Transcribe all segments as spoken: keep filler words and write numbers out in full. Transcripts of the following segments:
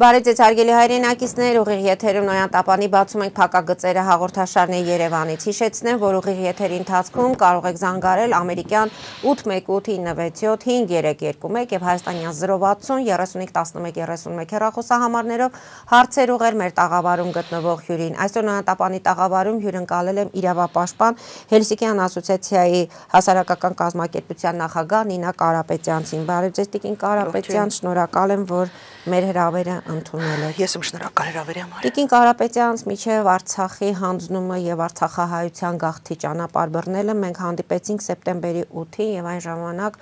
Բարև ձեզ հարգելի հայրենակիցներ, ուղիղ եթերում Նոյան Տապանի բացում ենք փակագծերը հաղորդաշարն է Երևանից։ Հիշեցնեմ, որ ուղիղ եթերի ընթացքում կարող եք զանգարել ամերիկյան ութ մեկ ութ ինը վեց յոթ հինգ երեք երկու մեկ եւ հայաստանյան զրո վաթսուն երեսունհինգ տասնմեկ երեսունմեկ հեռախոսահամարներով հարցեր ուղղել մեր տաղավարում գտնվող հյուրին։ Այսօր Նոյան Տապանի տաղավարում հյուրընկալել եմ իրավապաշտպան Հելսինկյան ասոցիացիայի հասարակական կազմակերպության նախագահ Նինա Կարապետյանցին։ Բարև ձեզ Տիկին Կարապետյան, շնորհակալ եմ, որ մեր հրավերը ընդունել եք։ Ես եմ շնորհակալ հրավերի համար։ Տիկին Կարապետյանց միջև Արցախի հանձնումը եւ արցախահայության գաղթի ճանապարհ բռնելը մենք հանդիպեցինք սեպտեմբերի ութին եւ այն ժամանակ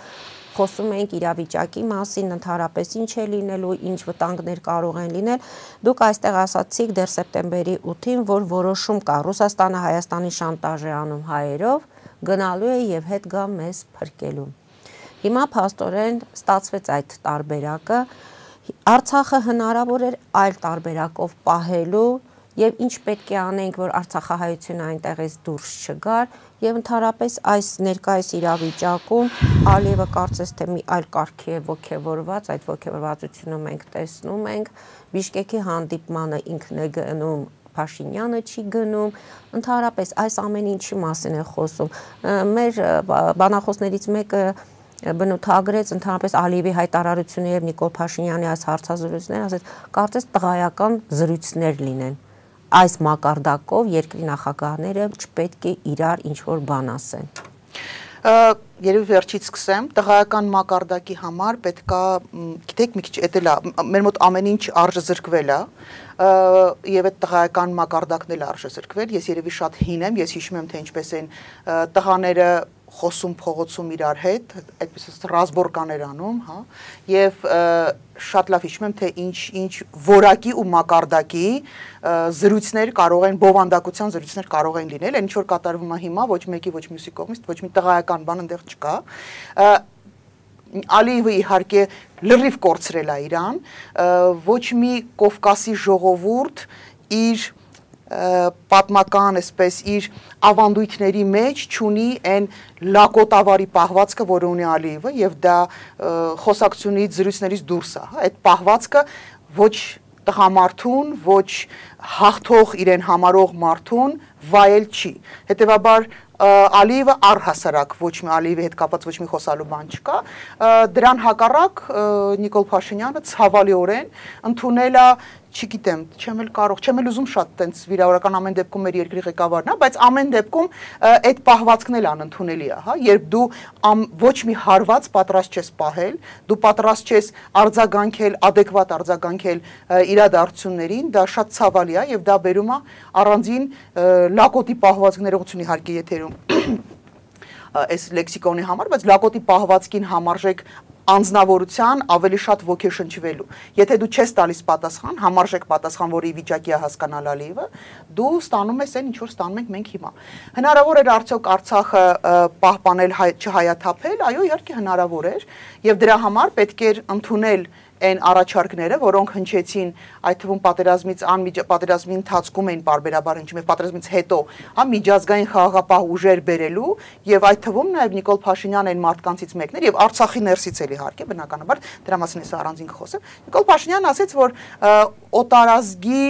խոսում էինք իրավիճակի մասին, ընդհանրապես ինչ է լինելու, ինչ վտանգներ կարող են լինել։ Դուք այստեղ ասացիք դեռ սեպտեմբերի ութին, որ որոշում կա, Ռուսաստանը Հայաստանի շանտաժ է անում հայերով, գնալու է եւ հետ գա մեզ փրկելու։ Հիմա փաստորեն ստացվեց այդ տարբերակը։ Արցախը հնարավոր էր այլ տարբերակով պահելու եւ ինչ պետք է անենք, որ արցախահայությունը այնտեղից դուրս չգար եւ ընդհանրապես այս ներկայիս իրավիճակում Ալիևը կարծես թե մի այլ կարգի է ոգևորված, այդ ոգևորվածությունը մենք տեսնում ենք, Բիշկեկի հանդիպմանը ինքն է գնում, Փաշինյանը չի գնում, ընդհանրապես այս ամեն ինչի մասին է խոսում։ Մեր բանախոսներից մեկը բնութագրեց ընդհանրապես Ալիևի հայտարարությունը եւ Նիկոլ Փաշինյանի այս հարցազրույցները, ասեց, կարծես տղայական զրույցներ լինեն։ Այս մակարդակով երկրի նախագահները չպետք է իրար ինչ-որ բան ասեն։ Երևի վերջից սկսեմ, տղայական մակարդակի համար պետքա, գիտեք մի քիչ էտել է, մեր մոտ ամեն ինչ արժե զրկվել է, եւ այդ տղայական մակարդակն էլ արժե զրկվել, ես երևի շատ հին եմ, ես հիշում եմ, թե ինչպես են տղաները խոսում փողոցում իրար հետ, այդպես ռազմորկաներ անում, հա, եւ շատ լավ հիշում եմ, թե ինչ ինչ որակի ու մակարդակի զրույցներ կարող են, բովանդակության զրույցներ կարող են լինել, այն ինչ որ կատարվում է հիմա, ոչ մեկի, ոչ մյուսի կողմից, ոչ մի տղայական բան այնտեղ չկա։ Ալիևը իհարկե լրիվ կորցրել է իրան, ոչ մի Կովկասի ժողովուրդ իր պատմական, այսպես իր ավանդույթների մեջ չունի այն լակոտավարի պահվածքը, որը ունի Ալիևը, եւ դա խոսակցությունից, զրույցներից դուրս է, այդ պահվածքը ոչ տղամարդուն, ոչ հաղթող իրեն համարող մարդուն վայել չի։ Հետևաբար Ալիևը առհասարակ ոչ մի Ալիևի հետ կապված ոչ մի խոսալու բան չկա, դրան հակառակ Նիկոլ Փաշինյանը ցավալիորեն ընդունել է, չգիտեմ, չեմ էլ կարող, չեմ էլ ուզում շատ տենց վիրավորական ամեն դեպքում մեր երկրի ղեկավարն է, բայց ամեն դեպքում այդ պահվածքն էլ անընդունելի է, հա, երբ դու ոչ մի հարված պատրաստ չես պահել, դու պատրաստ չես արձագանքել, adekvat արձագանքել իրադարձություններին, դա շատ ցավալի է եւ դա բերում է առանձին լակոտի պահվածք ներողություն իհարկե եթերում այս լեքսիկոնի համար, բայց լակոտի պահվածքին համարժեք անձնավորության ավելի շատ ոգեշնչվելու։ Եթե դու չես տալիս պատասխան, համարժեք պատասխան, որի վիճակի է հասկանալ Ալիևը, դու ստանում ես այն, ինչ որ ստանում ենք մենք հիմա։ Հնարավոր էր արդյոք Արցախը պահպանել, չհայաթափել, այո, իհարկե հնարավոր էր, եւ դրա համար պետք էր ընդունել այն առաջարկները, որոնք հնչեցին այդ թվում պատերազմից պատերազմի ընթացքում էին պարբերաբար հնչում եւ պատերազմից հետո, հա, միջազգային խաղաղապահ ուժեր բերելու եւ այդ թվում նաեւ Նիկոլ Փաշինյանն այն մարդկանցից մեկն էր եւ Արցախի ներսից էլ իհարկե բնականաբար դրա մասին ես առանձին խոսեմ։ Նիկոլ Փաշինյանն ասեց, որ օտարազգի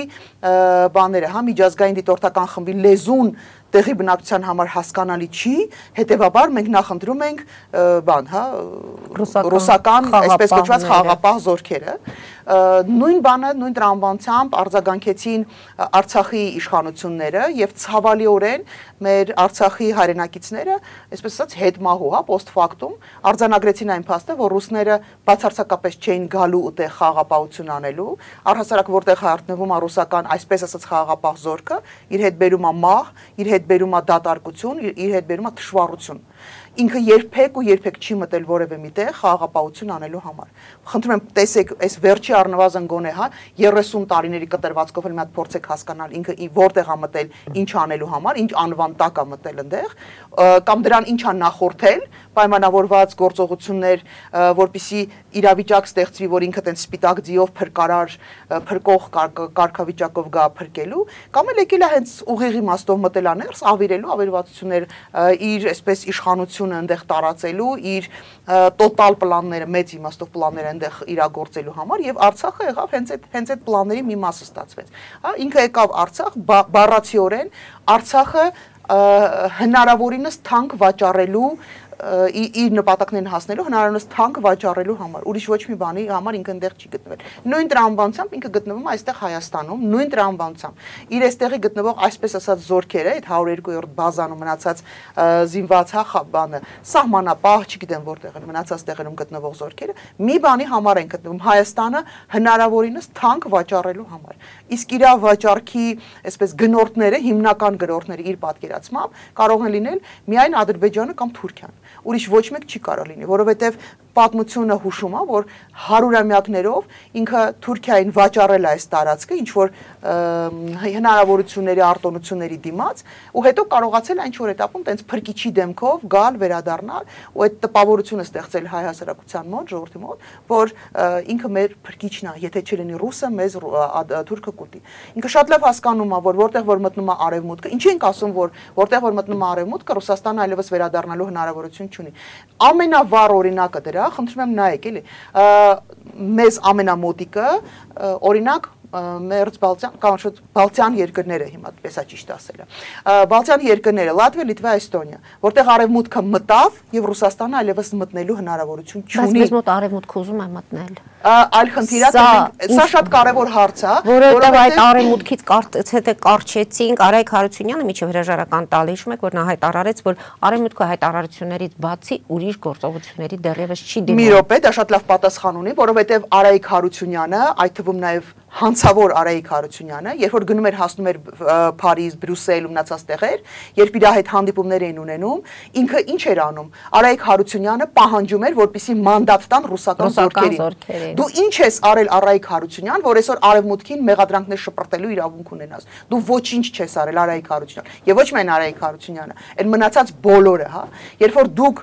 բաները, հա, միջազգային դիտորդական խմբի լեզուն տեղի բնակչության համար հասկանալի չի, հետևաբար մենք նախընտրում ենք բան, հա, ռուսական, այսպես կոչված խաղաղապահ զորքերը, նույն բանը, նույն տրամաբանությամբ արձագանքեցին Արցախի իշխանությունները եւ ցավալիորեն մեր Արցախի հայրենակիցները, այսպես ասած, հետմահու, հա, post factum արձանագրեցին այն փաստը, որ ռուսները բացարձակապես չէին գալու ուտեղ խաղաղապահություն անելու, առհասարակ որտեղ հայտնվում է ռուսական, այսպես ասած, խաղաղապահ զորքը, իր հետ բերում է մահ, իր հետ բերում է դատարկություն, իր հետ բերում է թշվառություն։ Ինքը երբեք ու երբեք չի մտել որևէ միտեղ խաղաղապահություն անելու համար։ Խնդրում եմ, տեսեք, այս վերջի առնվազն գոնե, հա, երեսուն տարիների կտրվածքով էլ մի հատ փորձեք հասկանալ ինքը որտեղ է մտել, ինչ անելու համար, ինչ անվան տակ է մտել այնտեղ, կամ դրան ինչ է նախորդել, պայմանավորված գործողություններ, որպիսի իրավիճակ ստեղծվի, որ ինքը տենց սպիտակ ձիով փրկարար, փրկող կարգավիճակով գա փրկելու, կամ էլ եկել է հենց ուղիղ իմաստով մտել աներս, ավիրելու ավերվածություններ իր այսպես իշխանությունը այնտեղ տարածելու, իր տոտալ պլանները, մեծ իմաստով պլանները այնտեղ իրագործելու համար եւ Արցախը եղավ հենց այդ հենց այդ պլանների մի մասը ստացվեց։ Հա, ինքը եկավ Արցախ բառացիորեն Արցախը հնարավորինս թանկ վաճառելու իր նպատակներին հասնելու հնարավորինս թանկ վաճառելու համար, ուրիշ ոչ մի բանի համար ինքը այնտեղ չի գտնվել։ Նույն տրամաբանությամբ ինքը գտնվում է այստեղ Հայաստանում, նույն տրամաբանությամբ։ Իր այստեղի գտնվող այսպես ասած զորքերը, այդ հարյուր երկու-րդ բազանում մնացած զինված հա բանը, սահմանապահ, չգիտեմ որտեղ են մնացած տեղերում գտնվող զորքերը, մի բանի համար են գտնվում Հայաստանը հնարավորինս թանկ վաճառելու համար։ Իսկ իր վաճառքի, այսպես գնորդները, հիմնական գնորդները իր պատկերացմամբ կարող են լինել միայն Ադրբեջանը կամ Թուրքիան։ Ուրիշ ոչ մեկ չի կարող լինի, որովհետև պատմությունը հուշում է, որ հարյուրամյակներով ինքը Թուրքիային վաճառել է այս տարածքը, ինչ որ հնարավորությունների, արտոնությունների դիմաց, ու հետո կարողացել այն ինչ որ этаպում տենց փրկիչի դեմքով գալ, վերադառնալ ու այդ տպավորությունը ստեղծել հայ հասարակության մոտ, ժողովրդի մոտ, որ ինքը մեր փրկիչն է, եթե չլինի ռուսը, մեզ թուրքը կուտի։ Ինքը շատ լավ հասկանում է, որ որտեղ որ մտնում է արևմուտքը, ինչի ենք ասում, որ որտեղ որ մտնում է արևմուտքը, Ռուսաստանը այլևս վերադառնալու հնարավորություն չունի։ Ամենավառ օրինակը դրա, խնդրում եմ նայեք, էլի, մեզ ամենամոտիկը, օրինակ Մերձ Բալտյան, կամ շուտ Բալտյան երկրները հիմա պես է ճիշտ ասելը։ Բալտյան երկրները՝ Լատվիա, Լիտվա, Էստոնիա, որտեղ արևմուտքը մտավ եւ Ռուսաստանը այլևս մտնելու հնարավորություն չունի։ Բայց մեզ մոտ արևմուտքը ուզում է մտնել։ Այլ խնդիր է, սա շատ կարևոր հարց է, որովհետեւ այդ արևմուտքից եթե կարճեցինք, Արայք Հարությունյանը միջև հրաժարական տալ հիշում եք, որ նա հայտարարեց, որ արևմուտքը հայտարարություններից բացի ուրիշ գործողությունների դեռևս չի դիմում։ Մի րոպե, դա շատ լավ պատասխան ունի, որովհետեւ Արայք Հարությունյանը, այդ թվում նաեւ հանցավոր Արայիկ Հարությունյանը, երբ որ գնում էր հասնում էր Փարիզ, Բրյուսել ու մնացած տեղեր, երբ իր հետ հանդիպումներ էին ունենում, ինքը ինչ էր անում։ Արայիկ Հարությունյանը պահանջում էր, որպեսզի մանդատ տան ռուսական զորքերին։ Դու ինչ ես արել Արայիկ Հարությունյան, որ այսօր արևմուտքին մեղադրանքներ շպրտելու իրավունք ունենաս։ Դու ոչինչ չես արել Արայիկ Հարությունյան։ Եվ ոչ միայն Արայիկ Հարությունյանը, այլ մնացած բոլորը, հա։ Երբ որ դուք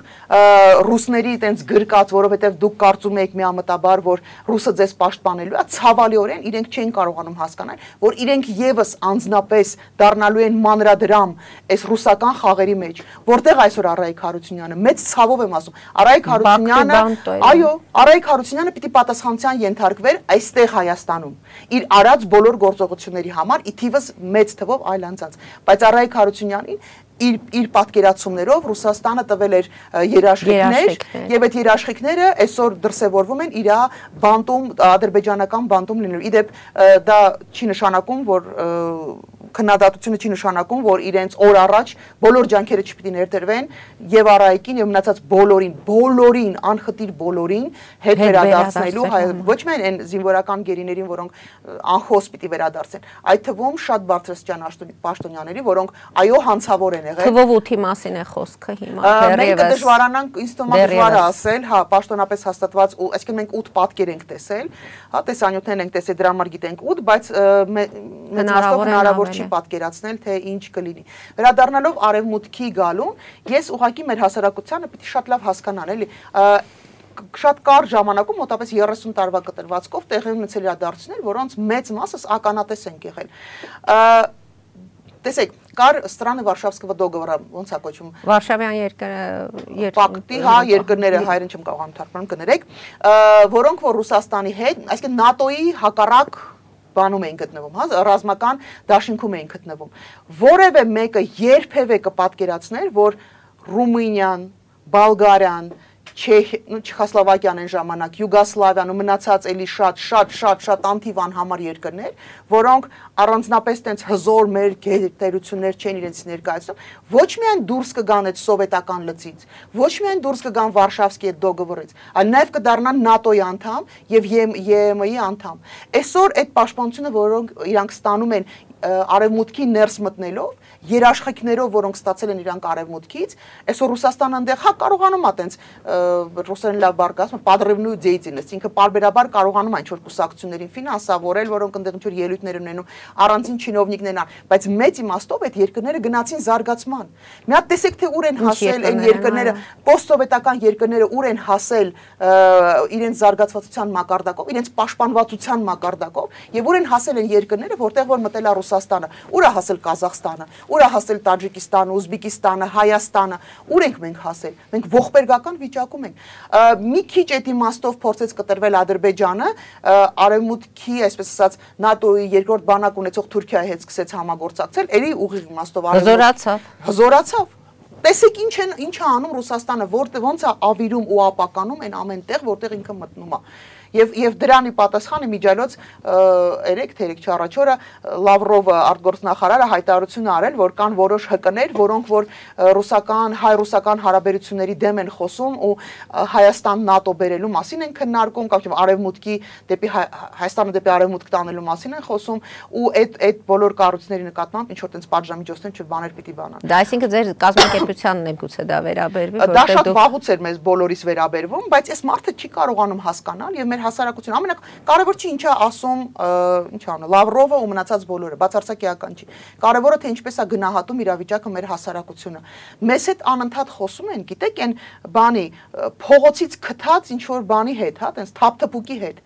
ռուսների այտենց գրկած, որովհետև դուք կարծում եք միամտաբար, որ ռուսը ձեզ պաշտպանելու է, ցավալիորեն իրենք չեն կարողանում հասկանալ, որ իրենք եւս անձնապես դառնալու են մանրադրամ այս ռուսական խաղերի մեջ, որտեղ այսօր Արայիկ Հարությունյանը, մեծ ցավով եմ ասում, Արայիկ Հարությունյանը, այո, Արայիկ Հարությունյանը պիտի պատասխանության ենթարկվեր այստեղ Հայաստանում, իր արած բոլոր գործողությունների համար, ի թիվս մեծ թվով այլ անձանց, բայց Արայիկ Հարությունյանին իր իր պատկերացումներով Ռուսաստանը տվել էր երաշխիքներ եւ այդ երաշխիքները այսօր դրսեւորվում են իր բանտում ադրբեջանական բանտում լինելու։ Իդեպ դա չի նշանակում, որ քննադատությունը չի նշանակում, որ իրենց օր առաջ բոլոր ջանքերը չպիտի ներդրվեն եւ Արայիկին եւ մնացած բոլորին, բոլորին, անխտիր բոլորին հետ վերադարձնելու, ոչ միայն այն զինվորական գերիներին, որոնք անխոս պիտի վերադարձեն, այդ թվում շատ բարձրաստիճան պաշտոնյաների, որոնք այո հանցավոր են եղել։ Թվով ութի մասին է խոսքը հիմա։ Մենք դժվարանանք, ինձ թվում է դժվար է ասել, հա, պաշտոնապես հաստատված, այսինքն մենք ութ պատկեր ենք տեսել, հա, տեսանյութներ ենք տեսել, դրա համար գիտենք ութ, բայց հնարավոր չի պատկերացնել, թե ինչ կլինի։ Վերադառնալով արևմուտքի գալուն, ես ուղղակի մեր հասարակությանը պիտի շատ լավ հասկանալ, էլի, շատ կարճ ժամանակում, մոտավորապես երեսուն տարվա կտրվածքով տեղի ունեցել իրադարձություններ, որոնց մեծ մասը ականատես ենք եղել։ Տեսեք, կար Страны Վարշավского договора, ոնց է կոչվում։ Վարշավյան երկրները, Պակտի, հա, երկրները, հայերեն չեմ կարողանում թարգմանել, կներեք, որոնք որ Ռուսաստանի հետ, այսինքն ՆԱՏՕ-ի հակառակ բանում էին գտնվում, հա, ռազմական դաշինքում էին գտնվում։ Որևէ մեկը երբևէ կպատկերացներ, որ Ռումինիան, Բալգարիան, Չեխոսլովակիան այն ժամանակ, Յուգոսլավիան ու մնացած էլի շատ շատ շատ շատ անթիվան համար երկրներ, որոնք առանձնապես տենց հզոր մեր գերտերություններ չեն իրենց ներկայացնում, ոչ միայն դուրս կգան այդ սովետական լծից, ոչ միայն դուրս կգան Վարշավսկի այդ դոգովորից, այլ նաև կդառնան ՆԱՏՕ-ի անդամ եւ ԵՄ-ի անդամ։ Այսօր այդ պաշտպանությունը, որոնք իրանք ստանում են արևմուտքի ներս մտնելով, երաշխիքներով, որոնք ստացել են իրանք արևմուտքից, այսօր Ռուսաստանը այնտեղ հա կարողանում է տենց ռուսերեն լավ բառ ասում, падрывную деятельность, ինքը պարբերաբար կարողանում է ինչ-որ կուսակցություններին ֆինանսավորել, որոնք այնտեղ ինչ-որ ելույթներ ունենում, առանձին չինովնիկներն են, բայց մեծ իմաստով այդ երկրները գնացին զարգացման։ Մի հատ տեսեք թե ուր են հասել այն երկրները, պոստսովետական երկրները ուր են հասել իրենց զարգացվածության մակարդակով, իրենց պաշտպանվածության մակարդակով եւ ուր են հասել են երկրները, որտեղ որ մտել է Ռուսաստանը, ուր է հասել Կազախստանը, ուր է հասել Տաջիկստանը, Ուզբեկիստանը, Հայաստանը, ուր ենք մենք հասել։ Մենք ողբերգական վիճակում ենք։ Մի քիչ այդ իմաստով փորձեց կտրվել Ադրբեջանը, արևմուտքի, այսպես ասած, ՆԱՏՕ-ի երկրորդ բանակ ունեցող Թուրքիայի հետ սկսեց համագործակցել, երի ուղիղ իմաստով հզորացավ։ Հզորացավ։ Տեսեք ինչ են ինչ է անում Ռուսաստանը, որտեղ ոնց է ավիրում ու ապականում այն ամենտեղ, որտեղ ինքը մտնում է։ Եվ եւ դրանի պատասխանը միջալոց երեք թե երեք չառաջ օրը Լավրովը արտգործնախարարը հայտարարություն արել, որ կան որոշ հկներ, որոնք որ ռուսական հայ-ռուսական հարաբերությունների դեմ են խոսում ու Հայաստան ՆԱՏՕ բերելու մասին են քննարկում, կամ արևմուտքի դեպի Հայաստանը դեպի արևմուտք տանելու մասին են խոսում ու այդ այդ բոլոր կառույցների նկատմամբ ինչ որ տենց պատժամիջոցներ չբաներ պիտի բանան։ Դա այսինքն ձեր կազմակերպությանն է գուցե դա վերաբերվի, որտեղ դա շատ վաղուց էր մեզ բոլորիս վերաբերվում, բայց այս մարդը չի կարողանում հասկանալ եւ մեր հասարակությունը ամենակարևոր չի ինչա ասում, ինչ անը, Լավրովը ու մնացած բոլորը, բացարձակեական չի։ Կարևորը թե ինչպես է գնահատում իրավիճակը մեր հասարակությունը։ Մեզ հետ անընդհատ խոսում են, գիտեք, այն բանի փողոցից քթած ինչ որ բանի հետ, հա, տենց թափթփուկի հետ։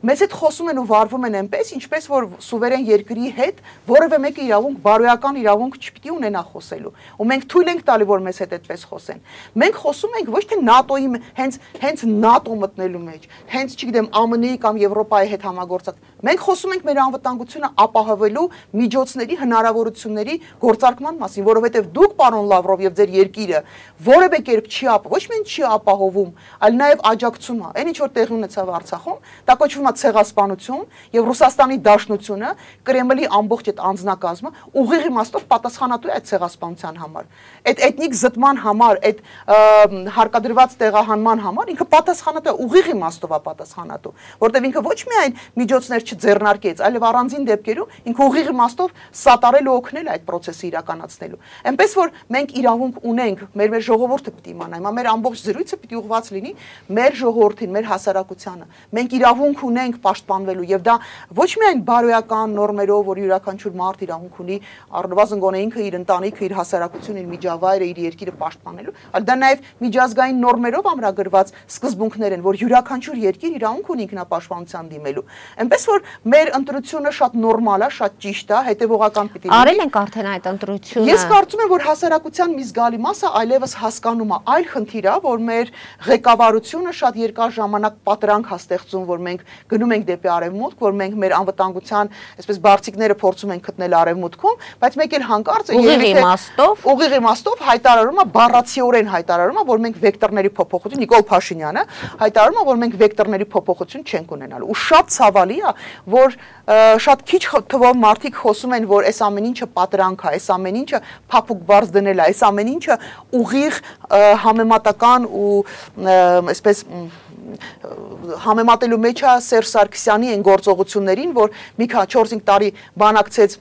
Մեզ հետ խոսում են ու վարվում են այնպես, ինչպես որ սուվերեն երկրի հետ որևէ մեկը իրավունք, բարոյական իրավունք չպիտի ունենա խոսելու։ Ու մենք թույլ ենք տալի, որ մեզ հետ այդպես խոսեն։ Մենք խոսում ենք ոչ թե ՆԱՏՕ-ի հենց հենց ՆԱՏՕ մտնելու մեջ, հենց չգիտեմ ԱՄՆ-ի կամ Եվրոպայի հետ համագործակ։ Մենք խոսում ենք մեր անվտանգությունը ապահովելու միջոցների հնարավորությունների գործարկման մասին, որովհետև դուք, պարոն Լավրով, եւ ձեր երկիրը որևէ կերպ չի ապ, ոչ միայն չի ապահովում, այլ նաեւ աջակցում է։ Այն ինչ որ տեղի ունեցավ Արցախում, դա կոչվում է ցեղասպանություն եւ Ռուսաստանի Դաշնությունը Կրեմլի ամբողջ այդ անձնակազմը ուղիղ իմաստով պատասխանատու է այդ ցեղասպանության համար, այդ էթնիկ զտման համար, այդ հարկադրված տեղահանման համար ինքը պատասխանատու է, ուղիղ իմաստով է պատասխանատու, որտեղ ինքը ոչ միայն միջոցներ չձեռնարկեց, այլև առանձին դեպքերում ինքը ուղիղ իմաստով սատարել ու օգնել այդ process-ը իրականացնելու։ Այնպես որ մենք իրավունք ունենք, մեր մեր ժողովուրդը պիտի իմանա, հիմա մեր ամբողջ զրույցը պիտի ուղղված լինի մեր ժողովրդին, մեր հասարակությանը։ Մենք իրավունք ունենք պաշտպանվելու եւ դա ոչ միայն բարոյական նորմերով, որ յուրաքանչյուր մարդ իրավունք ունի առնվազն գոնե ինքը իր ընտանիքը, իր հասարակությունը, իր միջավայրը, իր երկիրը պաշտպանելու, այլ դա նաեւ միջազգային նորմերով ամրագրված սկզբունքներ են, որ յուրաքանչյուր երկիր իրավունք ունի ինքնապաշտպանության դիմելու։ Այնպես որ մեր ընտրությունը շատ նորմալ է, շատ ճիշտ է, հետեւողական պիտի լինի։ Արել ենք արդեն այդ ընտրությունը։ Ես կարծում եմ, որ հասարակության մի զգալի մասը այլևս հասկանում է, այլ խնդիր է, որ մեր ղեկավարությունը շատ երկար ժամանակ պատրանք է ստեղծում, որ մենք գնում ենք դեպի արևմուտք, որ մենք մեր անվտանգության, այսպես բարձիկները փորձում ենք գտնել արևմուտքում, բայց մեկ էլ հանկարծ է ուղիղ իմաստով, ուղիղ իմաստով հայտարարում է, բառացիորեն հայտարարում է, որ մենք վեկտորների փոփոխություն, Նիկոլ Փաշինյանը հայտարարում է, որ մենք վեկտորների փոփոխություն չենք ունենալու։ Ու շատ ցավալի է, որ շատ քիչ թվով մարդիկ խոսում են, որ այս ամեն ինչը պատրանք է, այս ամեն ինչը փափուկ բարձ դնել է, այս ամեն ինչը ուղիղ համեմատական ու այսպես համեմատելու մեջ է Սերժ Սարգսյանի այն գործողություններին, որ մի քանի չորս-հինգ տարի բանակցեց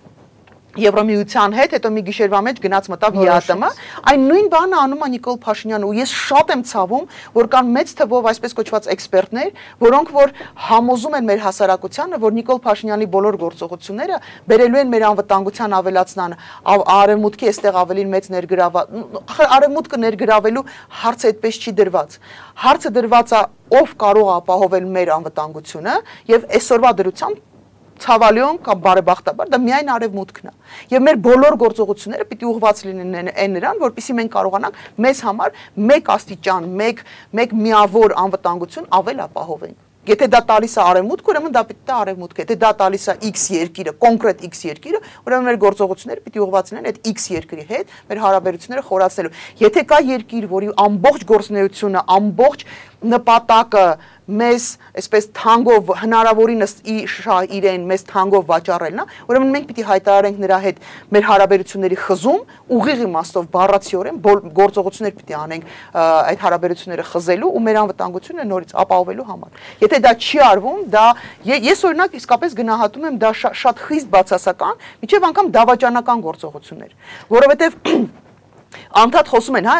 Եվրամիության հետ, հետո մի գիշերվա մեջ գնաց մտավ ԵԱՏՄ, այն նույն բանը անում է Նիկոլ Փաշինյանը ու ես շատ եմ ցավում, որ կան մեծ թվով այսպես կոչված էքսպերտներ, որոնք որ համոզում են մեր հասարակությանը, որ Նիկոլ Փաշինյանի բոլոր գործողությունները բերելու են մեր անվտանգության ավելացման, արևմուտքի այստեղ ավելին մեծ ներգրավված, արևմուտքը ներգրավելու հարցը այդպես չի դրված։ Հարցը դրված է ով կարող է ապահովել մեր անվտանգությունը եւ այսօրվա դրությամբ ցավալիոն կամ բարեբախտաբար դա միայն արևմուտքն է եւ մեր բոլոր գործողությունները պիտի ուղղված լինեն այն նրան, որպեսզի մենք կարողանանք մեզ համար մեկ աստիճան, մեկ մեկ միավոր անվտանգություն ավել ապահովենք։ Եթե դա տալիս է արևմուտք, ուրեմն դա պիտի դա արևմուտք է, եթե դա տալիս է X երկիրը, կոնկրետ X երկիրը, ուրեմն մեր գործողությունները պիտի ուղղված լինեն այդ X երկրի հետ, մեր հարաբերությունները խորացնելու։ Եթե կա երկիր, որի ամբողջ գործունեությունը, ամբողջ նպատակը մեզ այսպես թանգով հնարավորինս իրեն մեզ թանգով վաճառելն է, ուրեմն մենք պիտի հայտարարենք նրա հետ մեր հարաբերությունների խզում, ուղիղ իմաստով բառացիորեն գործողություններ պիտի անենք այդ հարաբերությունները խզելու ու մեր անվտանգությունը նորից ապահովելու համար։ Եթե դա չի արվում, դա ես օրինակ իսկապես գնահատում եմ դա շատ խիստ բացասական, միջև անգամ դավաճանական գործողություններ, որովհետև Անդադ խոսում են, հա,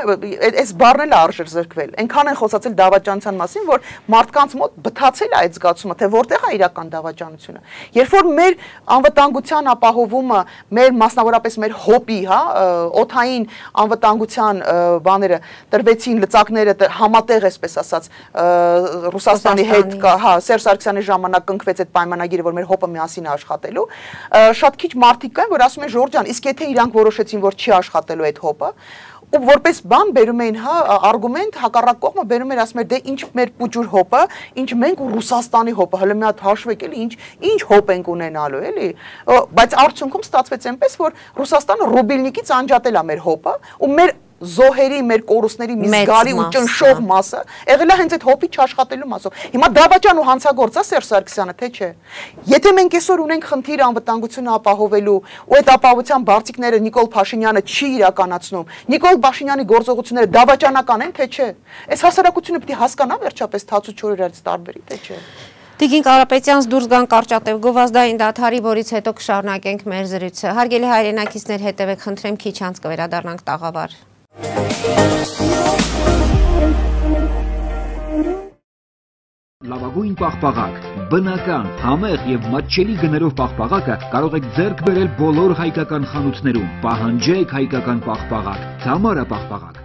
այս բառն էլ արժեր զրկվել։ Այնքան են խոսացել դավաճանության մասին, որ մարդկանց մոտ բթացել է այդ զգացումը, թե որտեղ է իրական դավաճանությունը։ Երբ որ մեր անվտանգության ապահովումը, մեր մասնավորապես մեր հոպի, հա, օդային անվտանգության բաները տրվեցին, լծակները համատեղ, այսպես ասած, Ռուսաստանի հետ, հա, Սերժ Սարգսյանի ժամանակ կնքվեց այդ պայմանագիրը, որ մեր հոպը միասին է աշխատելու, շատ քիչ մարդիկ կան, որ ասում են Ժորժ ջան, իսկ եթե իրանք որոշեցին, որ չի աշխատելու այդ հոպը, ու որպես բան բերում էին, հա, արգումենտ հակառակ կողմը բերում էր, ասում էր, դե ինչ մեր պուճուր հոպը, ինչ մենք ու Ռուսաստանի հոպը, հələ մի հատ հաշվեք էլի, ինչ ինչ հոպ ենք ունենալու, էլի, բայց արդյունքում ստացվեց այնպես, որ Ռուսաստանը ռուբիլնիկից անջատել է մեր հոպը, ու մեր զոհերի, մեր կորուստների մի զգալի ու ճնշող մասը եղել է հենց այդ հոպի չաշխատելու մասով։ Հիմա դավաճան ու հանցագործ է Սերժ Սարգսյանը, թե չէ։ Եթե մենք այսօր ունենք խնդիր անվտանգությունը ապահովելու, ու այդ ապահովության բարձիկները Նիկոլ Փաշինյանը չի իրականացնում, Նիկոլ Փաշինյանի գործողությունները դավաճանական են, թե չէ։ Այս հասարակությունը պիտի հասկանա վերջապես թաց ու չոր իրարից տարբերի, թե չէ։ Տիկին Կարապետյանց դուրս գան կարճատև գովազդային դադարի, որից հետո կշարունակենք մեր զրույցը։ Հարգելի հայրենակիցներ, հետևեք, խնդրեմ, քիչ անց կվերադառնանք տաղավար։ Լավագույն պաղպաղակ, բնական, համեղ և մատչելի գներով պաղպաղակը կարող եք ձեռք բերել բոլոր հայկական խանութներում, պահանջեք հայկական պաղպաղակ, Թամարա պաղպաղակ։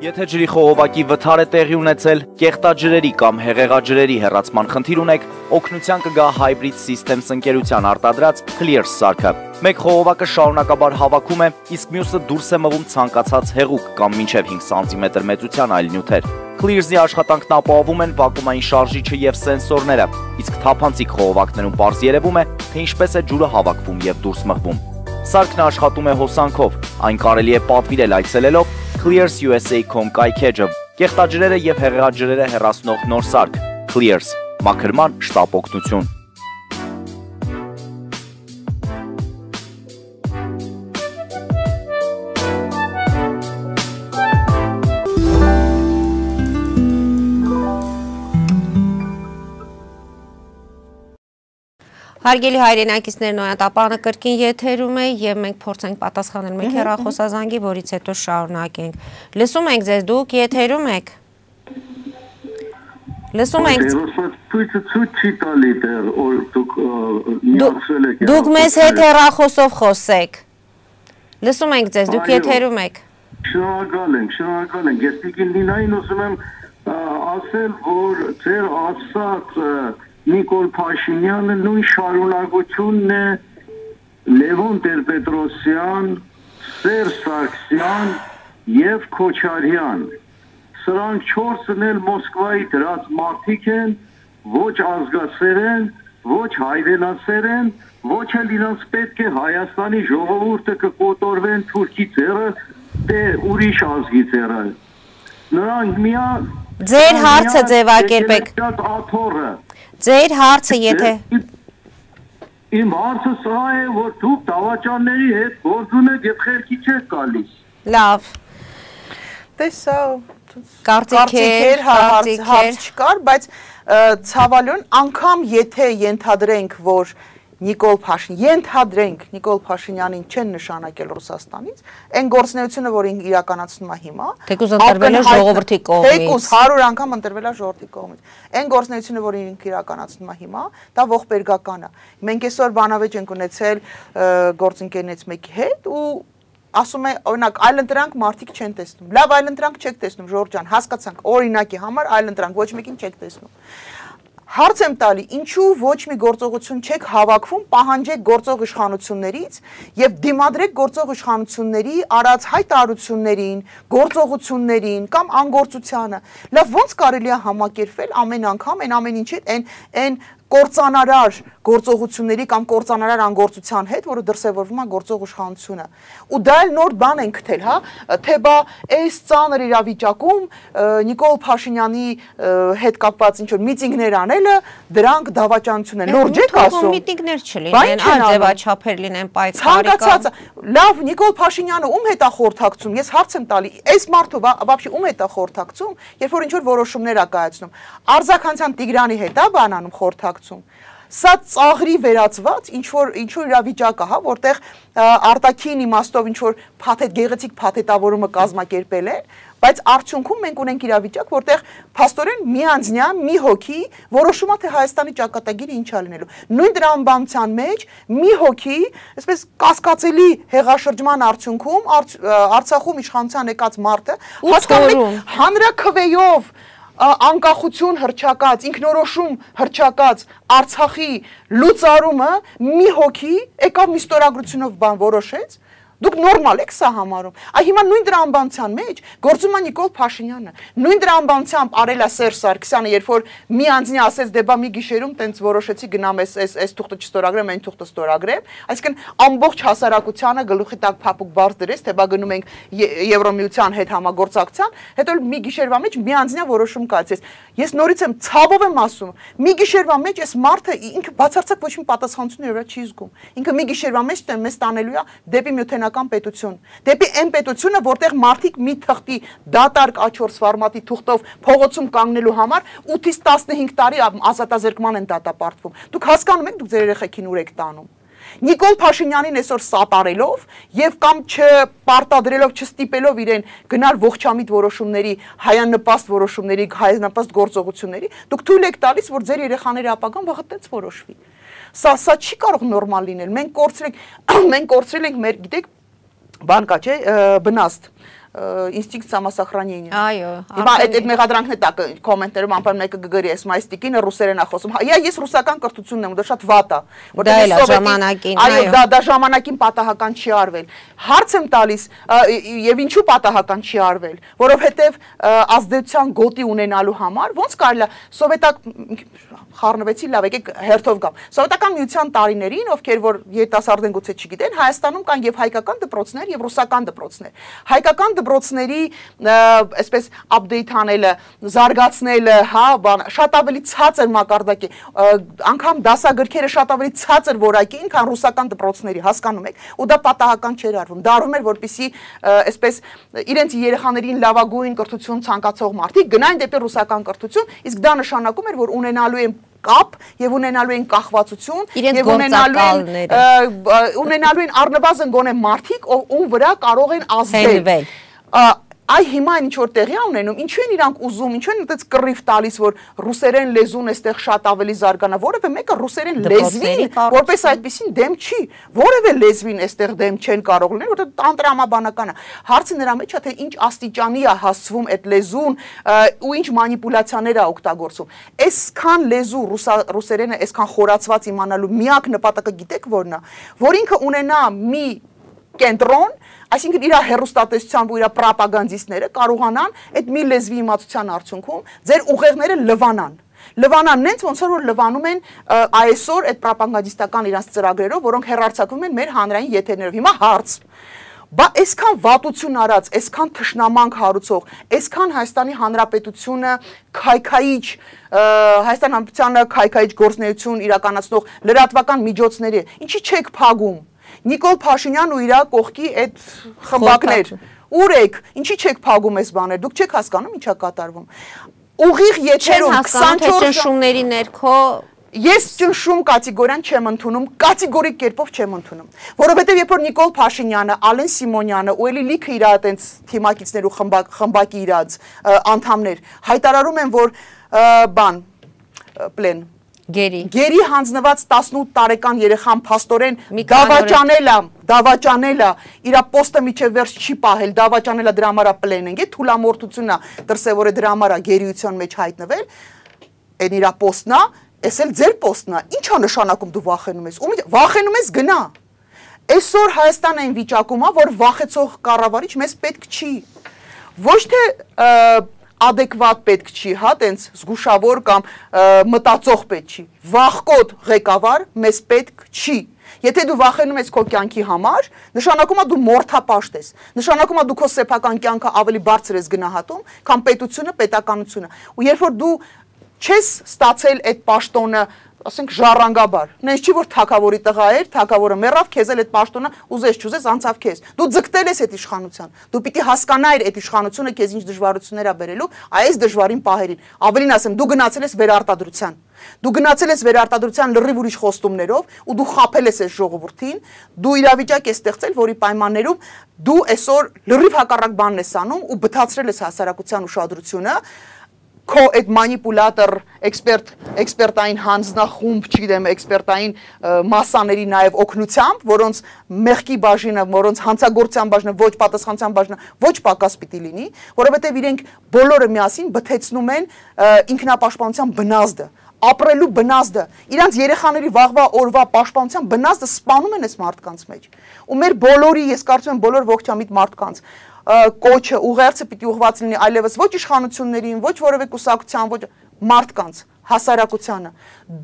Եթե ջրի խողովակի վթար է տեղի ունեցել, կեղտաջրերի կամ հեղեղաջրերի հեռացման խնդիր ունեք, օգնության կգա Hybrid Systems ընկերության արտադրած Clears սարքը։ Մեկ խողովակը շարունակաբար հավաքում է, իսկ մյուսը դուրս է մղում ցանկացած հեղուկ կամ մինչև հինգ սանտիմետր մեծության այլ նյութեր։ Clears-ի աշխատանքն ապահովում են վակուումային շարժիչը եւ սենսորները, իսկ թափանցիկ խողովակներում պարզ երևում է, թե ինչպես է ջուրը հավաքվում եւ դուրս մղվում։ Սարքն աշխատում է հոսանքով, այն կարելի է պատվիրել այցելելով Clears U S A dot com կայքեջը, կեղտաջրերը եւ հեղեղաջրերը հեռացնող նոր սարք Clears, մաքրման շտապ օգնություն։ Հարգելի հայրենակիցներ, նոյատապանը կրկին եթերում է եւ մենք փորձենք պատասխանել մեկ հեռախոսազանգի, որից հետո շարունակենք։ Լսում ենք ձեզ, դուք եթերում եք։ Լսում ենք։ Ցույցը ցույց չի տալի դեռ, որ դուք միացել եք։ Դուք մեզ հետ հեռախոսով խոսեք։ Լսում ենք ձեզ, դուք եթերում եք։ Շնորհակալ ենք, շնորհակալ ենք։ Ես Տիկին Լինային ուզում եմ ասել, որ ձեր ասած Նիկոլ Փաշինյանը նույն շարունակությունն է Լևոն Տեր-Պետրոսյան, Սերժ Սարգսյան եւ Քոչարյան։ Սրանք չորսն էլ Մոսկվայի դրած մարդիկ են, ոչ ազգասեր են, ոչ հայրենասեր են, ոչ էլ իրանց պետք է Հայաստանի ժողովուրդը կկոտորվեն թուրքի ձեռը, թե ուրիշ ազգի ձեռը։ Նրանք միա Ձեր հարցը ձևակերպեք։ Ձեր հարցը եթե Իմ հարցը սա է, որ դուք դավաճանների հետ գործ ունեք եւ խելքի չեք գալիս։ Լավ։ Տեսա Կարծիքեր, հարց չկար, բայց ցավալիորեն անգամ եթե ենթադրենք, որ Նիկոլ Փաշինյան, ենթադրենք Նիկոլ Փաշինյանին չեն նշանակել Ռուսաստանից, այն գործունեությունը, որ իրականացնում է հիմա, թեկուզ ընտրվել է ժողովրդի կողմից, թեկուզ հարյուր անգամ ընտրվել է ժողովրդի կողմից, այն գործունեությունը, որ ինքը իրականացնում է հիմա, դա ողբերգական է։ Մենք այսօր բանավեճ ենք ունեցել գործընկերներից մեկի հետ ու ասում է, օրինակ, այլընտրանք մարդիկ չեն տեսնում։ Լավ, այլընտրանք չեք տեսնում, Ժորժ ջան, հասկացանք, օրինակի համար այլընտրանք ոչ մեկին չեք տեսնում։ Հարց եմ տալի, ինչու ոչ մի գործողություն չեք հավաքվում, պահանջեք գործող իշխանություններից եւ դիմադրեք գործող իշխանությունների արած հայտարարություններին, գործողություններին կամ անգործությանը։ Լավ, ո՞նց կարելի է համակերպել ամեն անգամ այն ամեն ինչի հետ, այն այն կործանարար գործողությունների կամ կործանարար անգործության հետ, որը դրսևորվում է գործող իշխանությունը։ Ու դա էլ նոր բան են գտել, հա, թե բա այս ծանր իրավիճակում Նիկոլ Փաշինյանի հետ կապված ինչ որ միտինգներ անելը, դրանք դավաճանություն են։ Լուրջ եք ասում։ Միտինգներ չլինեն, արձևաչափեր լինեն, պայքարի կամ լավ, Նիկոլ Փաշինյանը ում հետ է խորհրդակցում։ Ես հարց եմ տալի, այս մարդը բաբշի ում հետ է խորհրդակցում, երբ որ ինչ որ որոշումներ է կայացնում։ Արձաքանցյան Տիգրանի հետ է բանանում խորհրդակցում։ Սա ծաղրի վերածված ինչ որ ինչ որ իրավիճակ է, հա, որտեղ արտաքին իմաստով ինչ որ փաթեթ գեղեցիկ փաթեթավորումը կազմակերպել է, բայց արդյունքում մենք ունենք իրավիճակ, որտեղ փաստորեն միանձնյա մի հոգի որոշում է թե Հայաստանի ճակատագիրը ինչ է լինելու։ Նույն տրամաբանության մեջ մի հոգի, այսպես կասկածելի հեղաշրջման արդյունքում Արցախում իշխանության եկած մարդը հասկանում է հանրաքվեով անկախություն հռչակած, ինքնորոշում հռչակած Արցախի լուծարումը մի հոգի եկավ մի ստորագրությունով բան որոշեց, դուք նորմալ եք սա համարում։ Այ հիմա նույն տրամաբանության մեջ գործում է Նիկոլ Փաշինյանը, նույն տրամաբանությամբ արել է Սերժ Սարգսյանը, երբ որ մի անձնի ասեց դե բա մի գիշերում տենց որոշեցի գնամ այս այս այս թուղթը չստորագրեմ, այն թուղթը ստորագրեմ, այսինքն ամբողջ հասարակությանը գլուխի տակ փափուկ բարձ դրեց, թե բա գնում ենք Եվրոմիության հետ համագործակցության, հետո մի գիշերվա մեջ մի անձնյա որոշում կայացեց։ Ես նորից եմ ցավով եմ ասում, մի գիշերվա մեջ այս մարդը ինքը բացարձակ ոչ մի պատասխանատվություն իր վրա չի զգում։ Ինքը մի գիշերվա մեջ մեզ տանելու է դեպի միութենական պետություն, դեպի այն պետությունը, որտեղ մարդիկ մի թղթի դատարկ A չորս ֆորմատի թուղթով փողոցում կանգնելու համար ութից տասնհինգ տարի ազատազրկման են դատապարտվում։ Դուք հասկանում եք, դուք ձեր երեխեքին ուր եք տանում։ Նիկոլ Փաշինյանին այսօր սատարելով եւ կամ չպարտադրելով, չստիպելով իրեն գնալ ողջամիտ որոշումների, հայանպաստ որոշումների, հայանպաստ գործողությունների, դուք թույլ եք տալիս, որ ձեր երեխաների ապագան վաղը տենց որոշվի։ Սա սա չի կարող նորմալ լինել։ Մենք կորցրել ենք, մենք կորցրել ենք մեր, գիտեք, բան կա, չէ, բնաստ ինստինկտ самосохранения։ Այո։ Հիմա այդ այդ մեղադրանքն է տակ կոմենտերում անպայման մեկը գգրի էս մայստիկինը ռուսերեն է խոսում։ Հա, ես ռուսական կրթությունն եմ, դա շատ վատ է, որտեղ ժամանակին, այո, դա դա ժամանակին պատահական չի արվել։ Հարց եմ տալիս, եւ ինչու պատահական չի արվել, որովհետեւ ազդեցության գոտի ունենալու համար ոնց կարելի է սովետակ խառնվեցի, լավ, եկեք հերթով գամ։ Սովետական միության տարիներին, ովքեր որ երիտասարդեն գուցե չգիտեն, Հայաստանում կան եւ հայկական դպրոցներ եւ ռուսական դպրոցներ։ Հայկական դպրոցների այսպես update անելը, զարգացնելը, հա, բան, շատ ավելի ցածր մակարդակի, անգամ դասագրքերը շատ ավելի ցածր որակի, քան ռուսական դպրոցների, հասկանում եք, ու դա պատահական չէր արվում։ Դա արվում էր, որպեսզի այսպես իրենց երեխաներին լավագույն կրթություն ցանկացող մարդիկ գնային դեպի ռուսական կրթություն, իսկ դա նշանակում էր, որ ունենալու են կապ եւ ունենալու են կախվածություն եւ ունենալու են ունենալու են առնվազն գոնե մարդիկ, ում վրա կարող են ազդել։ Այ հիմա ինչ որ տեղի ունենում, ինչու են իրանք ուզում, ինչու են այդպես կռիվ տալիս, որ ռուսերեն լեզուն էստեղ շատ ավելի զարգանա, որևէ մեկը ռուսերեն լեզվին, որպես այդպեսին դեմ չի, որևէ լեզվին էստեղ դեմ չեն կարող լինել, որտեղ անտրամաբանական է։ Հարցը նրա մեջ է, թե ինչ աստիճանի է հասվում այդ լեզուն ու ինչ մանիպուլյացիաներ է օգտագործում։ Այսքան լեզու ռուսերենը այսքան խորացված իմանալու միակ նպատակը գիտեք որն է, որ ինքը ունենա մի կենտրոն, այսինքն իր հերոստատեսությամբ ու իր պրոպագանդիստները կարողանան այդ մի լեզվի իմացության արդյունքում ձեր ուղեղները լվանան։ Լվանան նենց ոնց որ լվանում են այսօր այդ պրոպագանդիստական իրանց ծրագրերով, որոնք հեռարձակվում են մեր հանրային եթերներով։ Հիմա հարց. Բա այսքան վատություն արած, այսքան թշնամանք հարուցող, այսքան Հայաստանի Հանրապետությունը քայքայիչ, Հայաստան Հանրապետությանը քայքայիչ գործունեություն իրականացնող լրատվական միջոցների, ինչի չեք փագում։ Նիկոլ Փաշինյան ու իր կողքի այդ խմբակներ, ուր եք, ինչի չեք փագում այս բաները, դուք չեք հասկանում ինչա կատարվում։ Ուղիղ եթերում քսանչորս ճնշումների ներքո Ես ճնշում կատեգորիան չեմ ընդունում, կատեգորիկ կերպով չեմ ընդունում, որովհետև երբ որ Նիկոլ Փաշինյանը, Ալեն Սիմոնյանը ու էլի լիքը իր այդենց թիմակիցներ ու խմբակի իրաց անդամներ հայտարարում են, որ բան պլեն Գերի Գերի հանձնված տասնութ տարեկան երեխան փաստորեն դավաճանել է, դավաճանել է, իր պոստը միջև վերջ չի պահել, դավաճանել է դրա համար պլեն են, թուլամորթությունն է դրսևորել դրա համար գերիության մեջ հայտնվել, այն իր պոստն է, Էս էլ ձեր պոստն է, ի՞նչ է նշանակում դու վախենում ես, վախենում ես գնա, այսօր Հայաստանը այն վիճակում է, որ վախեցող կառավարիչ մեզ պետք չի, ոչ թե adekvat պետք չի, հա, տենց զգուշավոր կամ մտածող պետք չի, վախկոտ ղեկավար մեզ պետք չի, եթե դու վախենում ես քո կյանքի համար, նշանակում է դու մորթապաշտ ես, նշանակում է դու քո սեփական կյանքը ավելի բարձր ես գնահատում, քան պետությունը, պետականությունը, ու երբ որ դու չես ստացել այդ պաշտոնը, ասենք ժառանգաբար, նենց չի որ թագավորի տղա էր, թագավորը մեռավ, քեզ էլ այդ պաշտոնը ուզես չուզես անցավ քեզ։ Դու ձգտել ես այդ իշխանության։ Դու պիտի հասկանայր այդ իշխանությունը քեզ ինչ դժվարություններ է բերելու, այս դժվարին պահերին։ Ավելին ասեմ, դու գնացել ես վերարտադրության։ Դու գնացել ես վերարտադրության լրիվ ուրիշ խոստումներով ու դու խաբել ես այս ժողովրդին, դու իրավիճակ ես ստեղծել, որի պայմաններում դու այսօր լրիվ հակառակ բանն ես անում ու բթացրել ես հասարակության ուշադրությունը քո այդ մանիպուլատոր էքսպերտ էքսպերտային հանձնախումբ, չգիտեմ, էքսպերտային մասաների նաև օգնությամբ, որոնց մեղքի բաժինը, որոնց հանցագործության բաժինը, ոչ պատասխանության բաժինը ոչ պակաս պիտի լինի, որովհետև իրենք բոլորը միասին բթեցնում են ինքնապաշտպանության բնազդը, ապրելու բնազդը, իրանց երեխաների վաղվա օրվա պաշտպանության բնազդը սպանում են այս մարդկանց մեջ։ Ու մեր բոլորի, ես կարծում եմ բոլոր ողջամիտ մարդկանց կոչը ուղերձը պիտի ուղղված լինի այլևս ոչ իշխանություններին, ոչ որևէ կուսակցության, ոչ մարդկանց, հասարակությանը։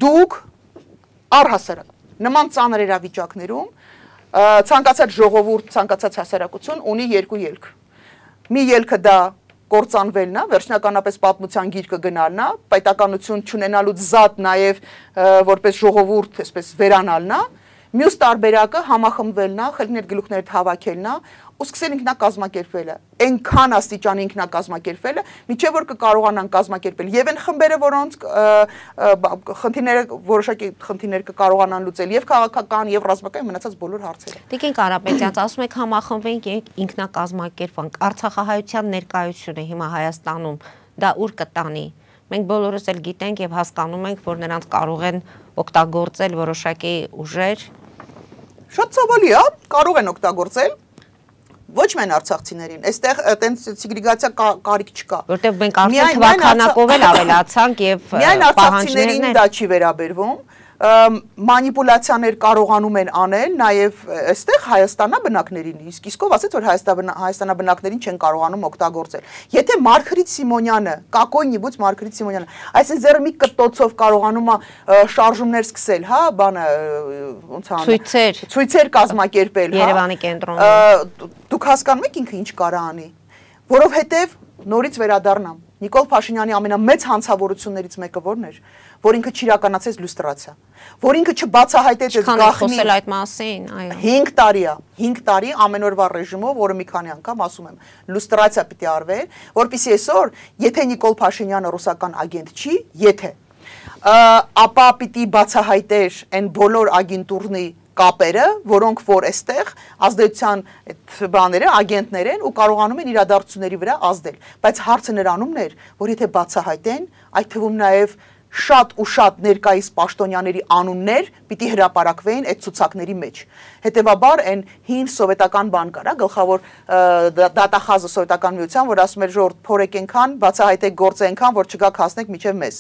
Դուք առհասարակ նման ծանր իրավիճակներում ցանկացած ժողովուրդ, ցանկացած հասարակություն ունի երկու ելք։ Մի ելքը դա կործանվելն է, վերջնականապես պատմության գիրկը գնալն է, պետականություն չունենալուց զատ նաև որպես ժողովուրդ, այսպես վերանալն է, մյուս տարբերակը համախմբվելն է, խելքներ գլուխներ հավաքելն է, ու սկսել ինքնակազմակերպելը, այնքան աստիճան ինքնակազմակերպելը, միջև որ կկարողանան կազմակերպել եւ այն խմբերը, որոնց խնդիրները որոշակի խնդիրներ կկարողանան լուծել եւ քաղաքական եւ ռազմական մնացած բոլոր հարցերը։ Տիկին Կարապետյան, ասում եք համախմբվենք եւ ինքնակազմակերպանք, Արցախահայության ներկայությունը հիմա Հայաստանում դա ուր կտանի։ Մենք բոլորս էլ գիտենք եւ հասկանում ենք, որ նրանց կարող են օգտագործել որոշակի ուժեր։ Շատ ցավալի է, կարող են օգտագործել ոչ միայն արցախցիներին, այստեղ այտենց սեգրեգացիա կարիք չկա։ Որտեղ մենք արդեն թվականակով էլ ավելացանք եւ միայն արցախցիներին դա չի վերաբերվում, մանիպուլյացիաներ կարողանում են անել նաև այստեղ հայաստանաբնակներին, իսկ իսկով ասեց, որ հայաստանաբնակներին չեն կարողանում օգտագործել։ Եթե Մարգարիտ Սիմոնյանը, կակոյնիբուց Մարգարիտ Սիմոնյանը, այսինքն ձեռը մի կտոցով կարողանում է շարժումներ սկսել, հա, բանը ոնց անում, ցույցեր, ցույցեր կազմակերպել, հա, Երևանի կենտրոնում։ Դուք հասկանում եք ինքը ինչ կարա անի, որովհետև նորից վերադառնամ։ Նիկոլ Փաշինյանի ամենամեծ հանցավորություններից մեկը որն էր, որ ինքը չիրականացեց լյուստրացիա, որ ինքը չբացահայտեց այդ գաղտնի խոսել այդ մասին, այո։ հինգ տարի է, հինգ տարի ամենօրվա ռեժիմով, որը մի քանի անգամ ասում եմ, լյուստրացիա պիտի արվեր, որպեսզի այսօր, եթե Նիկոլ Փաշինյանը ռուսական ագենտ չի, եթե ապա պիտի բացահայտեր այն բոլոր ագենտուրնի կապերը, որոնք որ այստեղ ազդեցության այդ բաները, ագենտներ են ու կարողանում են իրադարձությունների վրա ազդել, բայց հարցը նրանումն էր, որ եթե բացահայտեն, այդ թվում նաև շատ ու շատ ներկայիս պաշտոնյաների անուններ պիտի հրապարակվեին այդ ցուցակների մեջ։ Հետևաբար այն հին սովետական բան կար, գլխավոր դատախազը սովետական միության, որ ասում էր ժողովուրդ փորեք այնքան, բացահայտեք գործը այնքան, որ չգաք հասնեք միջև մեզ։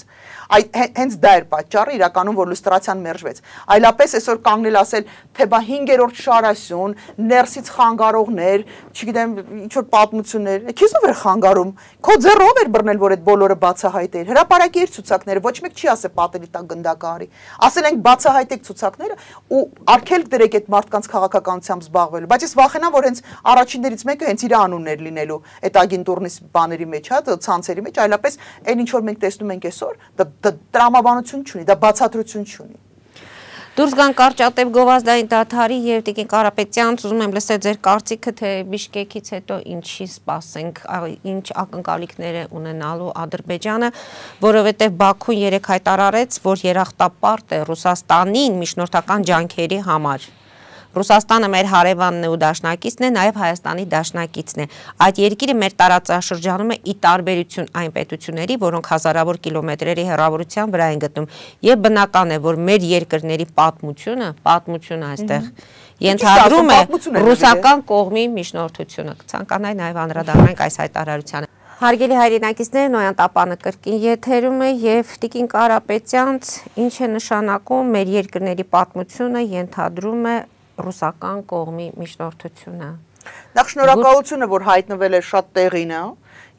Այդ հենց դա էր պատճառը իրականում, որ լյուստրացիան մերժվեց։ Այլապես այսօր կանգնել ասել, թե բա հինգերորդ շարասյուն, ներսից խանգարողներ, չգիտեմ, ինչ որ պատմություններ, քեզով էր խանգարում։ Քո ձեռով էր բռնել, որ այդ բոլորը բացահայտեր։ Հրապարակի էր ցուցակները, ոչ մեկ չի ասել պատերի տակ գնդակարի։ Ասել ենք բացահայտեք ցուցակները ու արգելք դրեք այդ մարդկանց քաղաքականությամբ զբաղվելու։ Բայց ես վախենամ, որ հենց առաջիններից մեկը հենց իր անունն էր լինելու այդ ագենտուրնի բաների մեջ, հա, ցանցերի մեջ, այլապես այն ինչ որ մենք տեսնում ենք այսօր, դա տրամաբանություն չունի, դա բացատրություն չունի։ Դուրս գան կարճատև գովազդային դադարի եւ Տիկին Կարապետյան, ուզում եմ լսել ձեր կարծիքը, թե Բիշկեկից հետո ինչի սպասենք, ինչ ակնկալիքներ է ունենալու Ադրբեջանը, որովհետեւ Բաքուն երեք հայտարարեց, որ երախտապարտ է Ռուսաստանին միջնորդական ջանքերի համար։ Ռուսաստանը մեր հարևանն է ու դաշնակիցն է, նաև Հայաստանի դաշնակիցն է։ Այդ երկիրը մեր տարածաշրջանում է ի տարբերություն այն պետությունների, որոնք հազարավոր կիլոմետրերի հեռավորության վրա են գտնում, եւ բնական է, որ մեր երկրների պատմությունը, պատմությունը այստեղ ենթադրում է ռուսական կողմի միջնորդությունը։ Կցանկանայի նաև անդրադառնանք այս հայտարարությանը։ Հարգելի հայրենակիցներ, Նոյան Տապանը կրկին եթերում է եւ Տիկին Կարապետյանց ինչ է նշանակում մեր երկրների պատմությունը ենթադրում է ռուսական կողմի միջնորդությունը։ Նախ շնորհակալությունը, որ հայտնվել է շատ տեղին է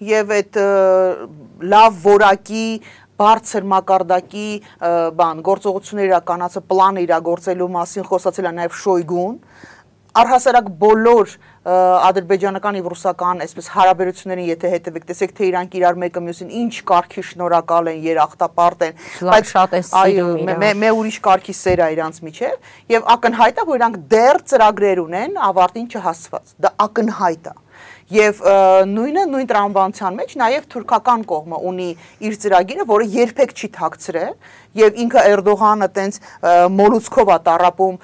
եւ այդ լավ որակի բարձր մակարդակի բան գործողություններ իրականացը պլանը իրագործելու մասին խոսացել է նաեւ Շոյգուն։ Առհասարակ բոլոր ադրբեջանական եւ ռուսական այսպես հարաբերություններին եթե հետևեք, տեսեք թե իրանք իրար մեկը մյուսին ինչ կարգի շնորհակալ են, երախտապարտ են, բայց շատ է սիրում իրար։ Մե ուրիշ կարգի սեր է իրանց միջև եւ ակնհայտ է, որ իրանք դեռ ծրագրեր ունեն ավարտին չհասված։ Դա ակնհայտ է։ Եվ նույնը նույն տրամաբանության մեջ նաև թուրքական կողմը ունի իր ծրագիրը, որը երբեք չի թաքցրել, եւ ինքը Էրդողանը տենց մոլուցքով է տառապում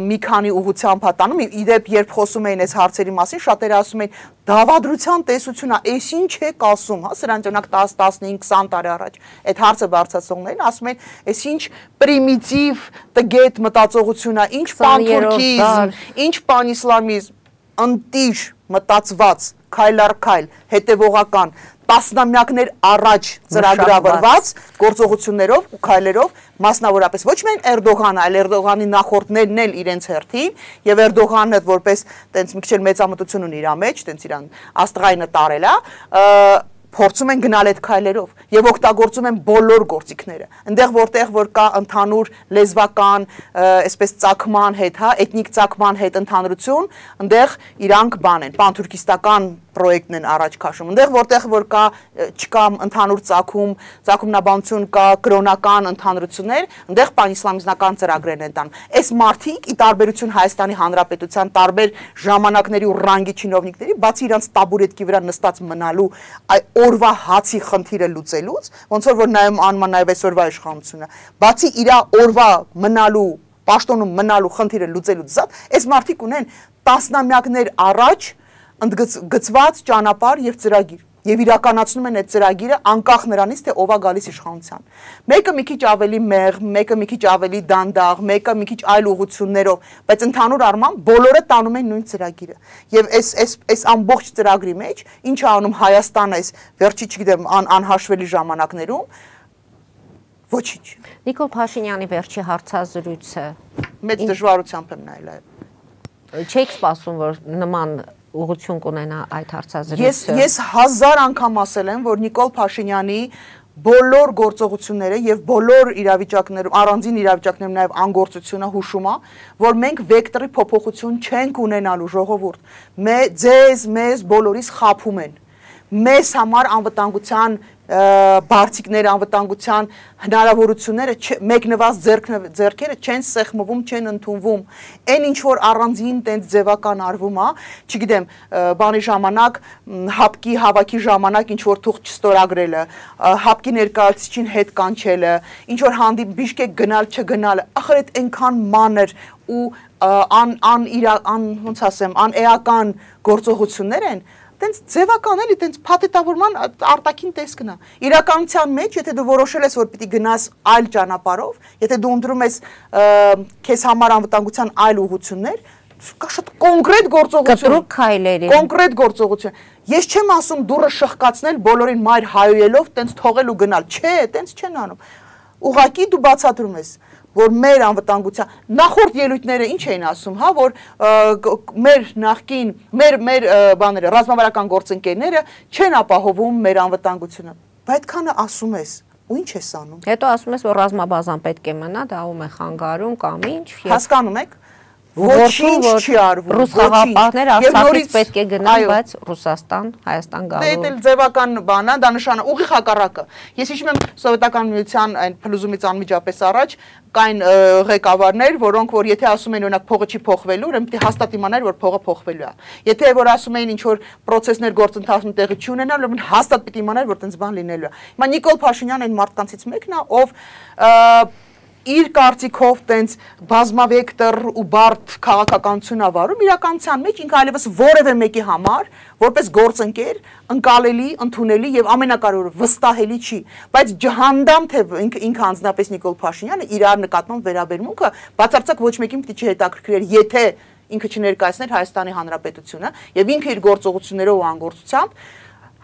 մի քանի ուղղությամբ է տանում։ Իդեպ երբ խոսում էին այս հարցերի մասին, շատերը ասում էին դավադրության տեսությունն է, էս ինչ եք ասում, հա, սրանց օրինակ տասը, տասնհինգ, քսան տարի առաջ այդ հարցը բարձրացնողներին ասում են, էս ինչ պրիմիտիվ տգետ մտածողություն է, ինչ պանթուրքիզմ, ինչ պանիսլամիզմ, ընտիր մտածված, քայլ առ քայլ, հետևողական, տասնամյակներ առաջ ծրագրավորված գործողություններով ու քայլերով, մասնավորապես ոչ միայն Էրդողանը, այլ Էրդողանի նախորդներն էլ իրենց հերթին, եւ Էրդողանը որպես տենց մի քիչ էլ մեծամտություն ունի իր մեջ, տենց իրան աստղայինը տարել է, փորձում են գնալ այդ քայլերով եւ օգտագործում են բոլոր գործիքները։ Այնտեղ որտեղ որ կա ընդհանուր լեզվական, այսպես ծագման հետ, հա, էթնիկ ծագման հետ ընդհանրություն, այնտեղ իրանք բան են, պանթուրքիստական պրոյեկտն են առաջ քաշում։ Այնտեղ որտեղ որ կա չկա ընդհանուր ծագում, ծագումնաբանություն կա, կրոնական ընդհանրություններ, այնտեղ պանիսլամիզմական ծրագրեր են տանում։ Այս մարդիկ ի տարբերություն Հայաստանի Հանրապետության տարբեր ժամանակների ու ռանգի չինովնիկների, բացի իրանց տաբուրետկի վրա նստած մնալու օրվա հացի խնդիրը լուծելուց, ոնց որ որ նայում անում նաև այսօրվա իշխանությունը, բացի իր օրվա մնալու, պաշտոնում մնալու խնդիրը լուծելուց զատ, այս մարդիկ ունեն տասնամյակներ առաջ ընդգծված ճանապարհ եւ ծրագիր եւ իրականացնում են այդ ծրագիրը անկախ նրանից թե ով է գալիս իշխանության։ Մեկը մի քիչ ավելի մեղ, մեկը մի քիչ ավելի դանդաղ, մեկը մի քիչ այլ ուղղություններով, բայց ընդհանուր առմամբ բոլորը տանում են նույն ծրագիրը։ Եվ այս այս այս ամբողջ ծրագրի մեջ ինչ է անում Հայաստանը այս վերջի, չգիտեմ, անհաշվելի ժամանակներում, ոչինչ։ Նիկոլ Փաշինյանի վերջի հարցազրույցը մեծ դժվարությամբ եմ նայել այո։ Չեք սպասում, որ նման ուղղություն կունենա այդ հարցազրույցը։ Ես ես հազար անգամ ասել եմ, որ Նիկոլ Փաշինյանի բոլոր գործողությունները եւ բոլոր իրավիճակներում, առանձին իրավիճակներում նաեւ անգործությունը հուշում է, որ մենք վեկտորի փոփոխություն չենք ունենալու ժողովուրդ։ Մեզ ձեզ, մեզ բոլորիս խափում են։ Մեզ համար անվտանգության բարձիկներ, անվտանգության հնարավորությունները մեկնված ձեռքերը չեն սեղմվում, չեն ընդունվում։ Այն ինչ որ առանձին տենց ձևական արվում է, չգիտեմ, բանի ժամանակ, հապկի հավաքի ժամանակ ինչ որ թուղթ չստորագրելը, հապկի ներկայացուցիչին հետ կանչելը, ինչ որ հանդիպ Բիշկեք գնալ չգնալը, ախր այդ այնքան մանր ու ան ան իր ան ոնց ասեմ, անէական գործողություններ են, տենց ձևական էլի, տենց փաթեթավորման արտաքին տեսքն է։ Իրականության մեջ, եթե դու որոշել ես, որ պիտի գնաս այլ ճանապարհով, եթե դու ընտրում ես քեզ համար անվտանգության այլ ուղղություններ, կա շատ կոնկրետ գործողություն։ Կտրուկ քայլերի։ Կոնկրետ գործողություն։ Ես չեմ ասում դուրը շղկացնել բոլորին մայր հայոյելով, տենց թողել ու գնալ։ Չէ, տենց չեն անում։ Ուղղակի դու բացատրում ես, որ մեր անվտանգության նախորդ ելույթները ինչ էին ասում, հա, որ մեր նախկին, մեր մեր բաները, ռազմավարական գործընկերները չեն ապահովում մեր անվտանգությունը։ Բայց այդքանը ասում ես, ու ինչ ես անում։ Հետո ասում ես, որ ռազմաբազան պետք է մնա, դա ում է խանգարում կամ ինչ։ Հասկանում եք, ոչինչ չի արվում։ Ռուս խաղապահները Արցախից պետք է գնան, բայց Ռուսաստան, Հայաստան գալու։ Դե դա ձևական բան է, դա նշան ուղիղ հակառակը։ Ես հիշում եմ Սովետական միության այն փլուզումից անմիջապես առաջ կային ղեկավարներ, որոնք որ եթե ասում են օրինակ փողը չի փոխվելու, ուրեմն պետք է հաստատ իմանալ, որ փողը փոխվելու է։ Եթե որ ասում էին ինչ որ process-ներ գործընթացում տեղի չունենալ, ուրեմն հաստատ պետք է իմանալ, որ տենց բան լինելու է։ Հիմա Նիկոլ Փաշինյանը այն մարդկանցից մեկն է, ով իր կարծիքով տենց բազմավեկտոր ու բարդ քաղաքականություն ավարում, իրականության մեջ ինքը այլևս որևէ մեկի համար, որպես գործընկեր, ընկալելի, ընդունելի եւ ամենակարևորը վստահելի չի, բայց ջհանդամ թե ինքը ինքը անձնապես Նիկոլ Փաշինյանը իրար նկատմամբ վերաբերմունքը բացարձակ ոչ մեկին պիտի չհետաքրքրեր, եթե ինքը չներկայացներ Հայաստանի Հանրապետությունը եւ ինքը իր գործողություններով ու անգործությամբ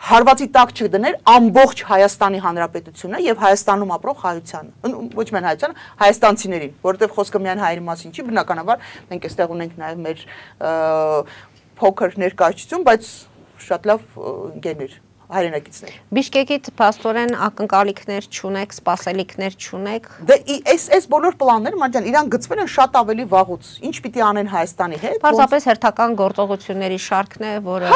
հարվածի տակ չդներ ամբողջ Հայաստանի Հանրապետությունը եւ Հայաստանում ապրող հայությանը, ոչ միայն հայությանը, հայաստանցիներին, որովհետեւ խոսքը միայն հայերի մասին չի, բնականաբար մենք այստեղ ունենք նաեւ մեր փոքր ներկայացություն, բայց շատ լավ ընկերներ հայրենակիցներ։ Բիշկեկից փաստորեն ակնկալիքներ չունեք, սպասելիքներ չունեք։ Դե այս այս բոլոր պլանները մանջան իրան գծվել են շատ ավելի վաղուց։ Ինչ պիտի անեն Հայաստանի հետ։ Պարզապես հերթական գործողությունների շարքն է, որը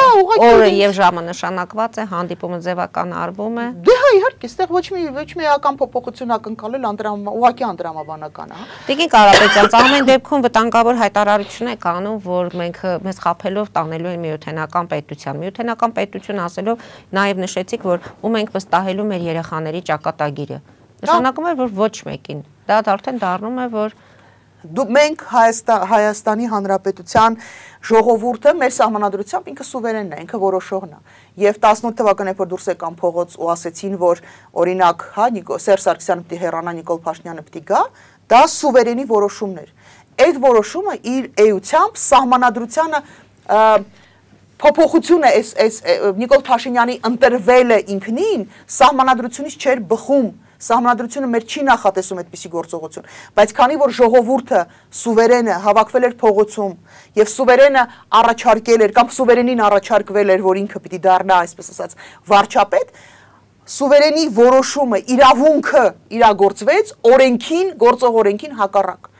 օրը եւ ժամը նշանակված է, հանդիպումը ձևական արվում է։ Դե հա իհարկե, այստեղ ոչ մի ոչ մի էական փոփոխություն ակնկալել անդրամ ուղղակի անդրամաբանական է, հա։ Տիկին Կարապետյան, ամեն դեպքում վտանգավոր հայտարարություն եք անում, որ մենք մեզ խափելով տանելու են միութենական պետության։ Միութենական պետություն ասելով նաև նշեցիք, որ ում ենք վստահելու մեր երեխաների ճակատագիրը։ Նշանակում է, որ ոչ մեկին։ Դա արդեն դառնում է, որ դու մենք Հայաստանի Հանրապետության ժողովուրդը մեր սահմանադրությամբ ինքը սուվերենն է, ինքը որոշողն է։ Եվ տասնութ թվականին որ դուրս եկան փողոց ու ասեցին, որ օրինակ, հա, Սերժ Սարգսյանը պիտի հեռանա, Նիկոլ Փաշինյանը պիտի գա, դա սուվերենի որոշումն էր։ Այդ որոշումը իր էությամբ սահմանադրությանը փոփոխությունը այս այս Նիկոլ Փաշինյանի ընտրվելը ինքնին սահմանադրությունից չէր բխում, սահմանադրությունը մեր չի նախատեսում այդպիսի գործողություն, բայց քանի որ ժողովուրդը սուվերենը հավաքվել էր փողոցում եւ սուվերենը առաջարկել էր կամ սուվերենին առաջարկվել էր, որ ինքը պիտի դառնա, այսպես ասած, վարչապետ, սուվերենի որոշումը, իրավունքը իրագործվեց օրենքին, գործող օրենքին հակառակ։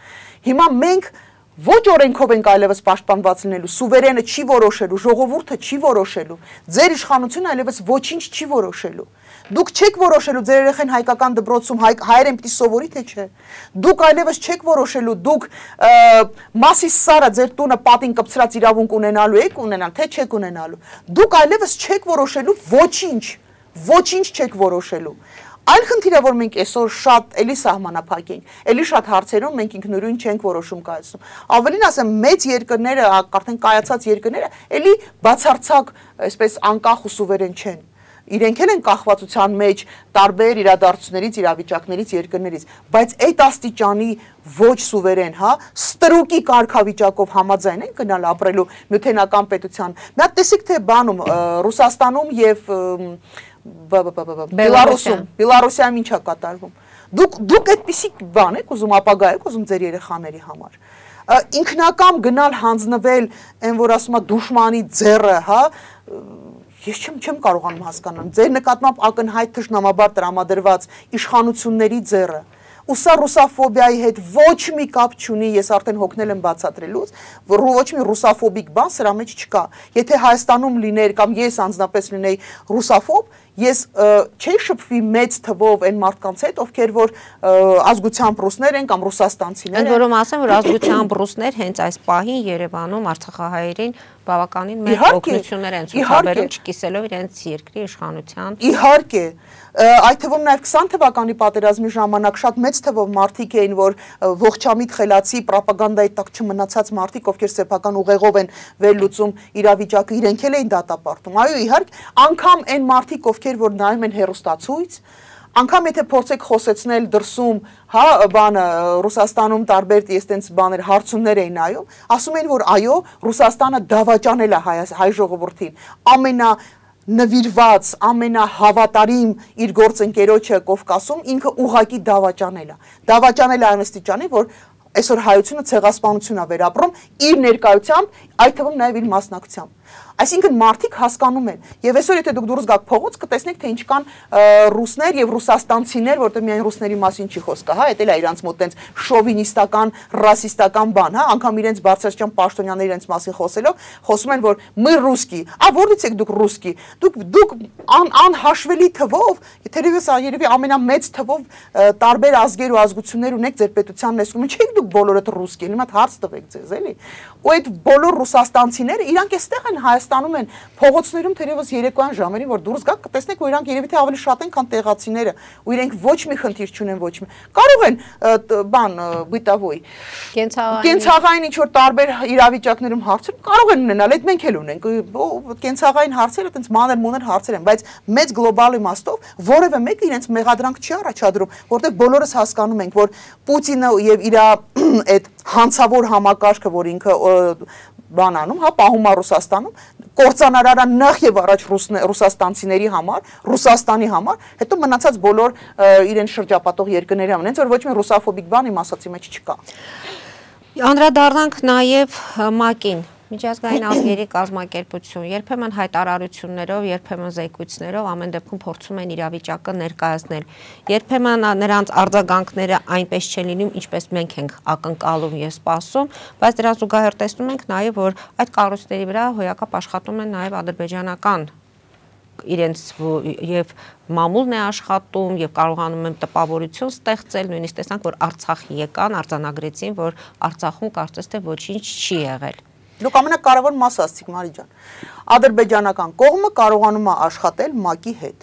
Հիմա մենք ոչ օրենքով ենք այլևս պաշտպանված լինելու, սուվերենը չի որոշելու, ժողովուրդը չի որոշելու, ձեր իշխանությունը այլևս ոչինչ չի որոշելու։ Դուք չեք որոշելու ձեր երեխան հայկական դպրոցում հայերեն պիտի սովորի թե չէ։ Դուք այլևս չեք որոշելու, դուք մասիս սարը ձեր տունը պատին կպցրած իրավունք ունենալու եք ունենալ, թե չեք ունենալու։ Դուք այլևս չեք որոշելու ոչինչ, ոչինչ չեք որոշելու։ Այլ խնդիրը, որ մենք այսօր շատ էլի սահմանափակ ենք, էլի շատ հարցերում մենք ինքնուրույն չենք որոշում կայացնում։ Ավելին ասեմ, մեծ երկրները, արդեն կայացած երկրները, էլի բացարձակ, այսպես անկախ ու սուվերեն չեն։ Իրենք էլ են կախվածության մեջ տարբեր իրադարձություններից, իրավիճակներից, երկրներից, բայց այդ աստիճանի ոչ սուվերեն, հա, ստրուկի կարգավիճակով համաձայն են գնալ ապրելու միութենական պետության։ Մի հատ տեսիք թե բանում Ռուսաստանում եւ Բելարուսում, Բելարուսիայում ինչ է կատարվում։ Դուք դուք այդպիսի բան եք ուզում ապագա եք ուզում ձեր երեխաների համար։ Ինքնակամ գնալ հանձնվել, այն որ ասում է դուշմանի ձեռը, հա, ես չեմ չեմ կարողանում հասկանալ։ Ձեր նկատմամբ ակնհայտ թշնամաբար տրամադրված իշխանությունների ձեռը։ Ու սա ռուսաֆոբիայի հետ ոչ մի կապ չունի, ես արդեն հոգնել եմ բացատրելուց, որ ոչ մի ռուսաֆոբիկ բան սրա մեջ չկա։ Եթե Հայաստանում լիներ կամ ես անձնապես լինեի ռուսաֆոբ, ես չէի շփվի մեծ թվով այն մարդկանց հետ, ովքեր որ ազգությամբ ռուսներ են կամ ռուսաստանցիներ են։ Ընդ որում ասեմ, որ ազգությամբ ռուսներ հենց այս պահին Երևանում արցախահայերին բավականին մեծ օգնություններ են ցուցաբերում, չկիսելով իրենց երկրի իշխանության։ Իհարկե, այդ թվում նաև քսան թվականի պատերազմի ժամանակ շատ մեծ թվով մարդիկ էին, որ ողջամիտ խելացի պրոպագանդայի տակ չմնացած մարդիկ, ովքեր սեփական ուղեղով են վերլուծում իրավիճակը, իրենք էլ էին դատապարտում։ Այո, իհարկե, անգամ այն մարդիկ, ովքեր որ նայում են հեռուստացույց, անգամ եթե փորձեք խոսեցնել դրսում, հա, բանը Ռուսաստանում տարբեր այստենց բաներ հարցումներ էին նայում, ասում էին, որ այո, Ռուսաստանը դավաճանել է հայ ժողովրդին, ամենա նվիրված, ամենահավատարիմ իր գործընկերոջը Կովկասում ինքը ուղակի դավաճանել է։ Դավաճանել է այն աստիճանի, որ այսօր հայությունը ցեղասպանություն է վերապրում իր ներկայությամբ, այդ թվում նաև իր մասնակցությամբ։ Այսինքն մարդիկ հասկանում են, եւ այսօր եթե դուք դուրս գաք փողոց, կտեսնեք թե ինչ կան ռուսներ եւ ռուսաստանցիներ, որտեղ միայն ռուսների մասին չի խոսքը, հա, դա էլ է իրանց մոտ տենց շովինիստական, ռասիստական բան, հա, անգամ իրենց բարձրաստիճան պաշտոնյաները իրենց մասին խոսելով, խոսում են, որ мы русские, а որից եք դուք ռուսկի, դուք դուք անհաշվելի թվով, թերևս երևի ամենամեծ թվով տարբեր ազգեր ու ազգություններ ունեք ձեր պետության ներսում, չեք դուք բոլորդ ռուսկի, հիմա հարց տվեք ձեզ, էլի։ Ու այդ բոլոր ռուսաստանցիները իրանք էստեղ են Հայաստանում են փողոցներում թերևս երեկոյան ժամերին որ դուրս գաք կտեսնեք որ իրանք երևի թե ավելի շատ են քան տեղացիները ու իրենք ոչ մի խնդիր չունեն ոչ մի կարող են բան բիտավոյ կենցաղային ինչ որ տարբեր իրավիճակներում հարցեր կարող են ունենալ այդ մենք էլ ունենք կենցաղային հարցերը այտենց մանր մուներ հարցեր են բայց մեծ գլոբալ իմաստով որևէ մեկը իրենց մեղադրանք չի առաջադրում որտեղ բոլորս հասկանում ենք որ Պուտինը եւ իր այդ հանցավոր համակարգը որ ինքը բանանում, հա, պահում է Ռուսաստանում, կործանարարա նախ եւ առաջ ռուսաստանցիների համար, Ռուսաստանի համար, հետո մնացած բոլոր իրեն շրջապատող երկրների համար, հենց որ ոչ մի ռուսաֆոբիկ բան իմ ասացի մեջ չկա։ Անդրադառնանք նաեւ ՄԱԿ-ին, Միջազգային ազգերի կազմակերպություն, երբեմն հայտարարություններով, երբեմն զեկույցներով ամեն դեպքում փորձում են իրավիճակը ներկայացնել։ Երբեմն նրանց արձագանքները այնպես չեն լինում, ինչպես մենք ենք ակնկալում եւ սպասում, բայց դրա զուգահեռ տեսնում ենք նաեւ, որ այդ կառույցների վրա հոյակապ աշխատում են նաեւ ադրբեջանական իրենց եւ մամուլն է աշխատում եւ կարողանում են տպավորություն ստեղծել, նույնիսկ տեսանք, որ Արցախի եկան, արձանագրեցին, որ Արցախում կարծես թե ոչինչ չի եղել։ Դուք ամենակարևոր մասը ասացիք Մարի ջան։ Ադրբեջանական կողմը կարողանում է աշխատել ՄԱԿ-ի հետ։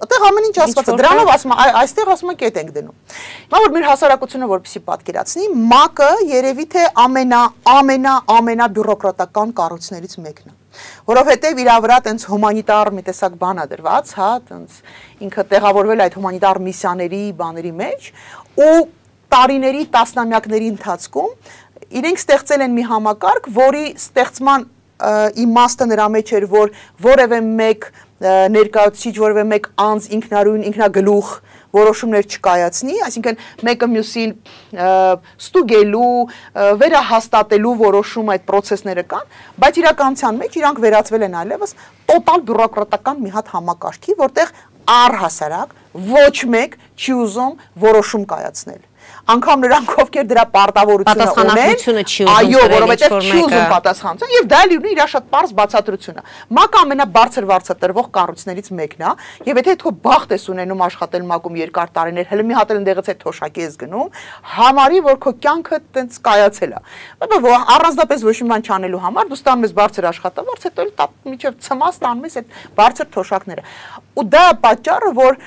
Այդտեղ ամեն ինչ ասված է, դրանով ասում է, այստեղ ասում է կետ ենք դնում։ Հիմա որ մեր հասարակությունը որպեսզի պատկերացնի, ՄԱԿ-ը երևի թե ամենա ամենա ամենա բյուրոկրատական կառույցներից մեկն է։ Որովհետև իր վրա տենց հումանիտար մի տեսակ բան է դրված, հա, տենց ինքը տեղավորվել այդ հումանիտար միսիաների բաների մեջ ու տարիների, տասնամյակների ընթացքում իրենք ստեղծել են մի համակարգ, որի ստեղծման իմաստը նրա մեջ էր, որ որևէ մեկ ներկայացուցիչ, որևէ մեկ անձ ինքնարույն, ինքնագլուխ որոշումներ չկայացնի, այսինքն մեկը մյուսին ստուգելու, վերահաստատելու որոշում այդ process-ները կան, բայց իրականության մեջ իրանք վերածվել են այլևս տոտալ բյուրոկրատական մի հատ համակարգի, որտեղ առհասարակ ոչ մեկ չի ուզում որոշում կայացնել։ Անգամ նրանք ովքեր դրա պարտավորությունը ունեն, այո, որովհետև չի ուզում պատասխանատվություն եւ դա լինի իր շատ པարզ բացատրությունը։ ՄԱԿ-ը ամենաբարձր վարձատրվող կառույցներից մեկն է, եւ եթե դու բախտ ես ունենում աշխատել ՄԱԿ-ում երկար տարիներ, հələ մի հատ էլ ընդեղից այդ թոշակի ես գնում, համարի որ քո կյանքը տենց կայացել է։ Բայց առանձնապես ոչ մի բան չանելու համար դու ստանում ես բարձր աշխատավարձ, հետո էլ միջև ցմաս ստանում ես այդ բարձր թոշակները։ Ու դա պատճառը, որ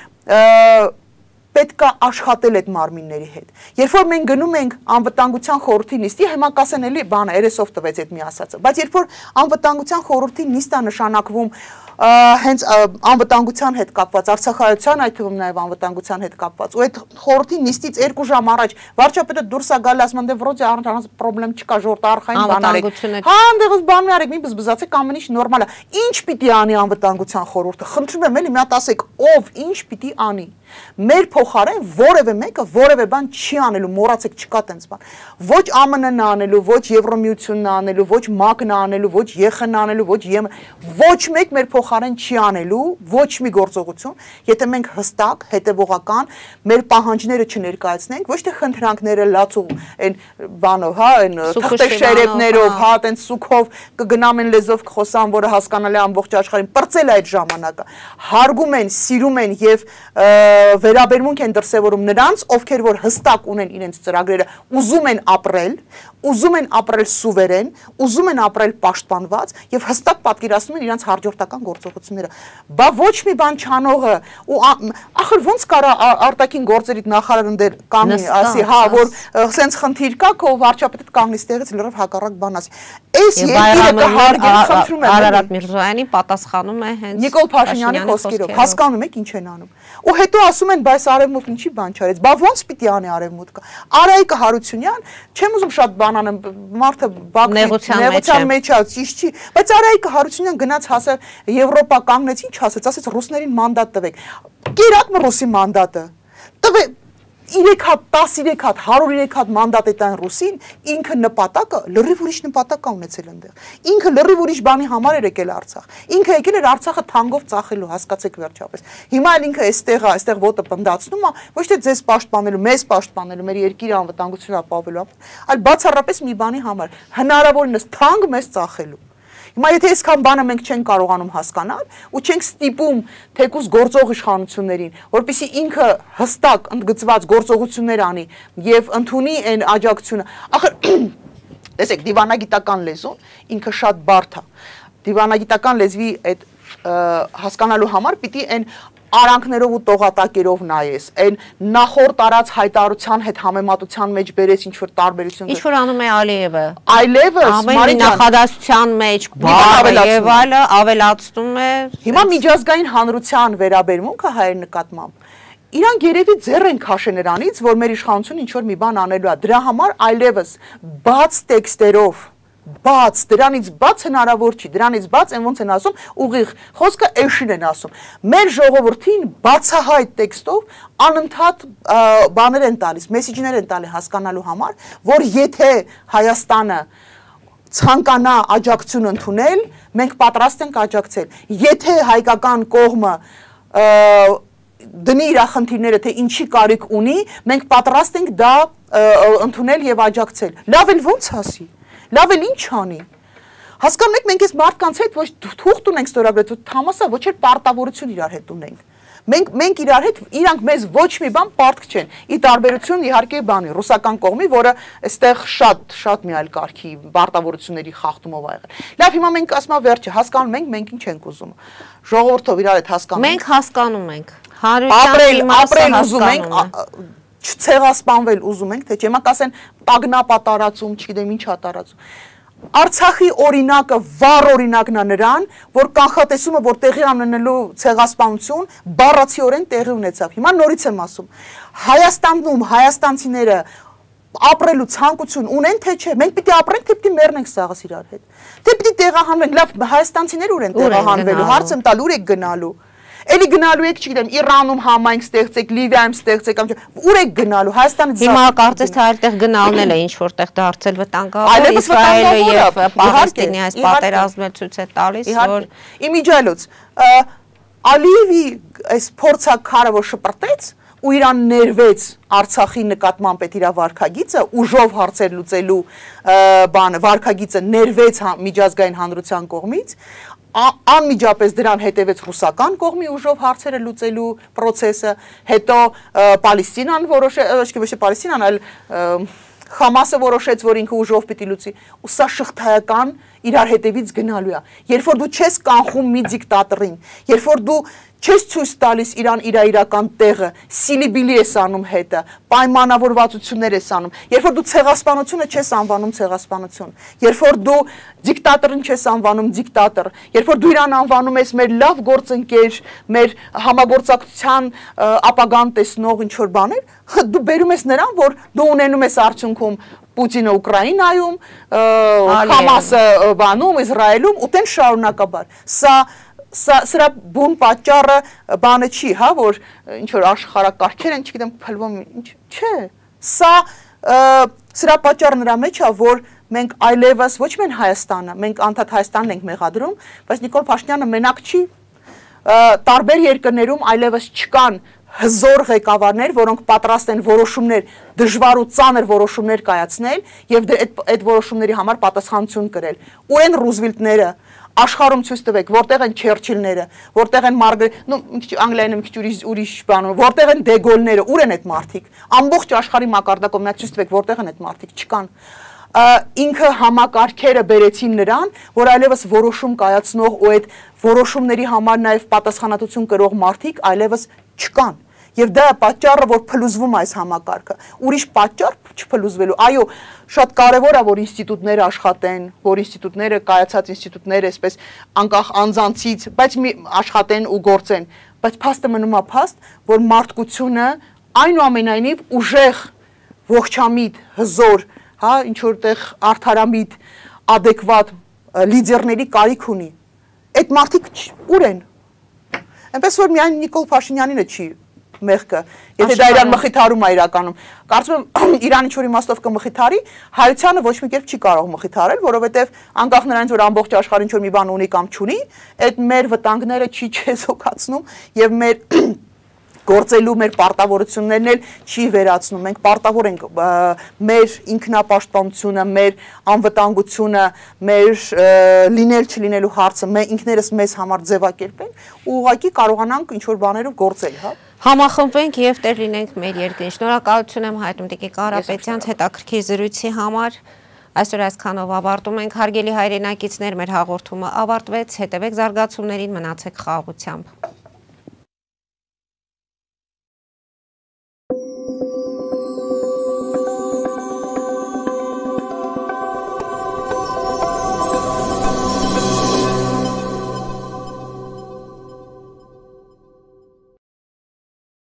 պետք է աշխատել այդ մարմինների հետ։ Երբ որ մենք գնում ենք անվտանգության խորհրդի նիստի, հիմա կասեն էլի բանը երեսով տվեց այդ մի ասածը, բայց երբ որ անվտանգության խորհրդի նիստը նշանակվում հենց անվտանգության հետ կապված, Արցախայցյան այդ թվում նաև անվտանգության հետ կապված, ու այդ խորհրդի նիստից երկու ժամ առաջ վարչապետը դուրս է գալի, ասում են դե վրոդի առանց պրոբլեմ չկա, ժողովուրդ արխային բան արեք։ Հա, այնտեղից բան մի արեք, մի բզբզացեք, ամեն ինչ նորմալ է։ Ինչ պիտի անի անվտանգության խորհուրդը։ Խնդրում եմ էլի մի հատ ասեք, ով ինչ պիտի անի։ Մեր փոխարեն որևէ մեկը որևէ բան չի անելու, մոռացեք չկա տենց բան։ Ոչ ԱՄՆ-ն անելու, ոչ Եվրոմիությունն անելու, ոչ ՄԱԿ-ն անելու, ոչ ԵԽ-ն անելու, ոչ ԵՄ, ոչ մեկ մեր փոխարեն չի անելու ոչ մի գործողություն, եթե մենք հստակ, հետևողական մեր պահանջները չներկայացնենք, ոչ թե խնդրանքները լացու այն բանով, հա, այն թղթեշերեփներով, հա, տենց սուքով կգնամ են լեզով կխոսան, որը հասկանալի ամբողջ աշխարհին, պրծել այդ ժամանակը։ Հարգում են, սիրում են եւ վերաբերմունք են դրսևորում նրանց, ովքեր որ հստակ ունեն իրենց ծրագրերը, ուզում են ապրել, ուզում են ապրել սուվերեն, ուզում են ապրել պաշտպանված եւ հստակ պատկերացնում են իրենց հաջորդական գործողությունները։ Բա ոչ մի բան չանողը ու ախր ոնց կարա արտաքին գործերի նախարարն դեր կամի ասի, հա, որ սենց խնդիր կա, քո վարչապետը կանգնի ստեղից լրիվ հակառակ բան ասի։ Այս երկիրը կհարգեն, խնդրում եմ։ Արարատ Միրզոյանի պատասխանում է հենց Նիկոլ Փաշինյանի խոսքերով, հասկանում եք ինչ են անում։ Ու հետո ասում են, բայց Արևմուտքն ինչի բան չարեց։ Բա ոնց պիտի անի Արևմուտքը։ Արայիկը Հարությունյան, չեմ ուզում շատ բան անեմ, մարդը նեղության մեջ է, ճիշտ չի, բայց Արայիկը Հարությունյան գնաց հասավ Եվրոպա կանգնեց, ինչ ասեց, ասեց ռուսներին մանդատ տվեք։ Կերակմ ռուսի մանդատը։ Տվե երեք հատ, տասներեք հատ, հարյուրերեք հատ մանդատ է տան ռուսին, ինքը նպատակը լրիվ ուրիշ նպատակ է ունեցել այնտեղ։ Ինքը լրիվ ուրիշ բանի համար էր եկել Արցախ։ Ինքը եկել էր Արցախը թանկով ծախելու, հասկացեք վերջապես։ Հիմա էլ ինքը այստեղ է, այստեղ ոտը պնդացնում է, ոչ թե ձեզ պաշտպանելու, մեզ պաշտպանելու, մեր երկիրը անվտանգությունը ապահովելու, այլ բացառապես մի բանի համար, հնարավորինս թանկ մեզ ծախելու։ Հիմա եթե այսքան բանը մենք չենք կարողանում հասկանալ ու չենք ստիպում թեկուզ գործող իշխանություններին, որպեսզի ինքը հստակ ընդգծված գործողություններ անի եւ ընդունի այն աջակցությունը։ Ախր տեսեք, դիվանագիտական լեզուն ինքը շատ բարդ է։ Դիվանագիտական լեզվի այդ հասկանալու համար պիտի այն արանքներով ու տողատակերով նայես, այն նախորդ արած հայտարարության հետ համեմատության մեջ բերես ինչ որ տարբերություն։ Ինչ որ անում է Ալիևը։ Այլևս Մարի նախադասության մեջ բառը եւ այլը ավելացնում է։ Հիմա միջազգային հանրության վերաբերմունքը հայեր նկատմամբ իրանք երևի ձեռ են քաշել նրանից, որ մեր իշխանությունը ինչ որ մի բան անելու է։ Դրա համար այլևս բաց տեքստերով բաց, դրանից բաց հնարավոր չի, դրանից բաց են ոնց են ասում, ուղիղ խոսքը էշին են ասում։ Մեր ժողովրդին բացահայտ տեքստով անընդհատ բաներ են տալիս, մեսիջներ են տալի հասկանալու համար, որ եթե Հայաստանը ցանկանա աջակցություն ընդունել, մենք պատրաստ ենք աջակցել։ Եթե հայկական կողմը դնի իր խնդիրները, թե ինչի կարիք ունի, մենք պատրաստ ենք դա ընդունել եւ աջակցել։ Լավ էլ ոնց ասի։ Լավ էլ ինչ անի։ Հասկանում եք, մենք այս մարդկանց հետ ոչ թուղթ ունենք ստորագրել, համասա ոչ էլ պարտավորություն իրար հետ ունենք։ Մենք մենք իրար հետ իրանք մեզ ոչ մի բան պարտք չեն։ Ի տարբերություն իհարկե բանի ռուսական կողմի, որը այստեղ շատ շատ մի այլ կարգի պարտավորությունների խախտումով ա եղել։ Լավ, հիմա մենք ասում ենք վերջը, հասկանում ենք, մենք ինչ ենք ուզում։ Ժողովրդով իրար հետ հասկանում ենք։ Մենք հասկանում ենք։ Ապրել, ապրել ուզում ենք, չցեղասպանվել ուզում ենք, թե չէ, հիմա կասեն տագնապ տարածում, չգիտեմ ինչ է տարածում։ Արցախի օրինակը վառ օրինակն է նրան, որ կանխատեսումը, որ տեղի անելու ցեղասպանություն բառացիորեն տեղի ունեցավ։ Հիմա նորից եմ ասում, Հայաստանում հայաստանցիները ապրելու ցանկություն ունեն, թե չէ, մենք պիտի ապրենք, թե պիտի մեռնենք սաղս իրար հետ։ Թե պիտի տեղահանվենք, լավ, հայաստանցիներ ուր են տեղահանվելու, հարց եմ տալ, ուր եք գնալու։ Էլի գնալու եք, չգիտեմ, Իրանում համայնք ստեղծեք, Լիվիայում ստեղծեք, ուր եք գնալու, Հայաստանից Հիմա կարծես թե այլտեղ գնալն էլ է ինչ որտեղ դարձել վտանգավոր, Իսրայելը եւ Պաղեստինի այս պատերազմը ցույց է տալիս, որ իմիջիայլոց Ալիևի այս փորձակարը որ շպրտեց ու իրան ներվեց Արցախի նկատմամբ այդ իր վարքագիծը, ուժով հարցեր լուծելու բանը, վարքագիծը ներվեց միջազգային հանրության կողմից, անմիջապես դրան հետևեց ռուսական կողմի ուժով հարցերը լուծելու process-ը, հետո Պալեստինան որոշեց, ոչ թե Պալեստինան, այլ Խամասը որոշեց, որ ինքը ուժով պիտի լուծի, ու սա շղթայական իրար հետևից գնալու է։ Երբ որ դու չես կանխում մի դիկտատորին, երբ որ դու չես ցույց տալիս իրան իր իրական տեղը, սիլիբիլի ես անում հետը, պայմանավորվածություններ ես անում, երբ որ դու ցեղասպանությունը չես անվանում ցեղասպանություն, երբ որ դու դիկտատորին չես անվանում դիկտատոր, երբ որ դու իրան անվանում ես մեր լավ գործընկեր, մեր համագործակցության ապագան տեսնող ինչ որ բաներ, դու բերում ես նրան, որ դու ունենում ես արդյունքում Պուտինը Ուկրաինայում, Համասը բանում, Իսրայելում, ու տեն շարունակաբար։ Սա սրա բուն պատճառը բանը չի, հա, որ ինչ որ աշխարհակարգեր են, չգիտեմ, փլվում, ինչ, չէ։ Սա սրա պատճառը նրա մեջ է, որ մենք այլևս ոչ միայն Հայաստանը, մենք անդադ Հայաստանն ենք մեղադրում, բայց Նիկոլ Փաշինյանը մենակ չի, տարբեր երկրներում այլևս չկան հզոր ղեկավարներ, որոնք պատրաստ են որոշումներ, դժվար ու ծանր որոշումներ կայացնել եւ այդ որոշումների համար պատասխանատվություն կրել։ Ուր են Ռուզվելտները, աշխարհում ցույց տվեք, որտեղ են Չերչիլները, որտեղ են Մարգարետ, նո, մի քիչ անգլիայինը մի քիչ ուրիշ ուրիշ բան, որտեղ են Դեգոլները, ուր են այդ մարդիկ։ Ամբողջ աշխարհի մակարդակով նա ցույց տվեք, որտեղ են այդ մարդիկ, չկան։ Ինքը համակարգերը բերեցին նրան, որ այլևս որոշում կայացնող ու այդ որոշումների համար նաև պատասխանատվություն կրող մարդիկ այլևս չկան։ Եվ դա է պատճառը, որ փլուզվում է այս համակարգը։ Ուրիշ պատճառ չփլուզվելու։ Այո, շատ կարևոր է, որ ինստիտուտները աշխատեն, որ ինստիտուտները, կայացած ինստիտուտները, այսպես անկախ անձանցից, բայց աշխատեն ու գործեն։ Բայց փաստը մնում է փաստ, որ մարդկությունը այնուամենայնիվ ուժեղ, ողջամիտ, հզոր, հա, ինչ որտեղ արդարամիտ, adekvat լիդերների կարիք ունի։ Այդ մարդիկ ուր են։ Այնպես որ միայն Նիկոլ Փաշինյանինը չի մեղքը, եթե դա իրան մխիթարում է իրականում։ Կարծում եմ Իրանը ինչ որ իմաստով կմխիթարի, հայությանը ոչ մի կերպ չի կարող մխիթարել, որովհետև անկախ նրանից որ ամբողջ աշխարհին ինչ որ մի բան ունի կամ չունի, այդ մեր վտանգները չի չեզոքացնում եւ մեր գործելու մեր պարտավորություններն էլ չի վերացնում։ Մենք պարտավոր ենք մեր ինքնապաշտպանությունը, մեր անվտանգությունը, մեր լինել չլինելու հարցը մենք ինքներս մեզ համար ձևակերպենք ու ուղղակի կարողանանք ինչ որ բաներով գործել, հա։ Համախմբենք եւ տեր լինենք մեր երկրին։ Շնորհակալություն եմ հայտնում Տիկին Կարապետյան հետաքրքիր զրույցի համար։ Այսօր այսքանով ավարտում ենք, հարգելի հայրենակիցներ, մեր հաղորդումը ավարտվեց, հետևեք զարգացումներին, մնացեք խաղաղությամբ։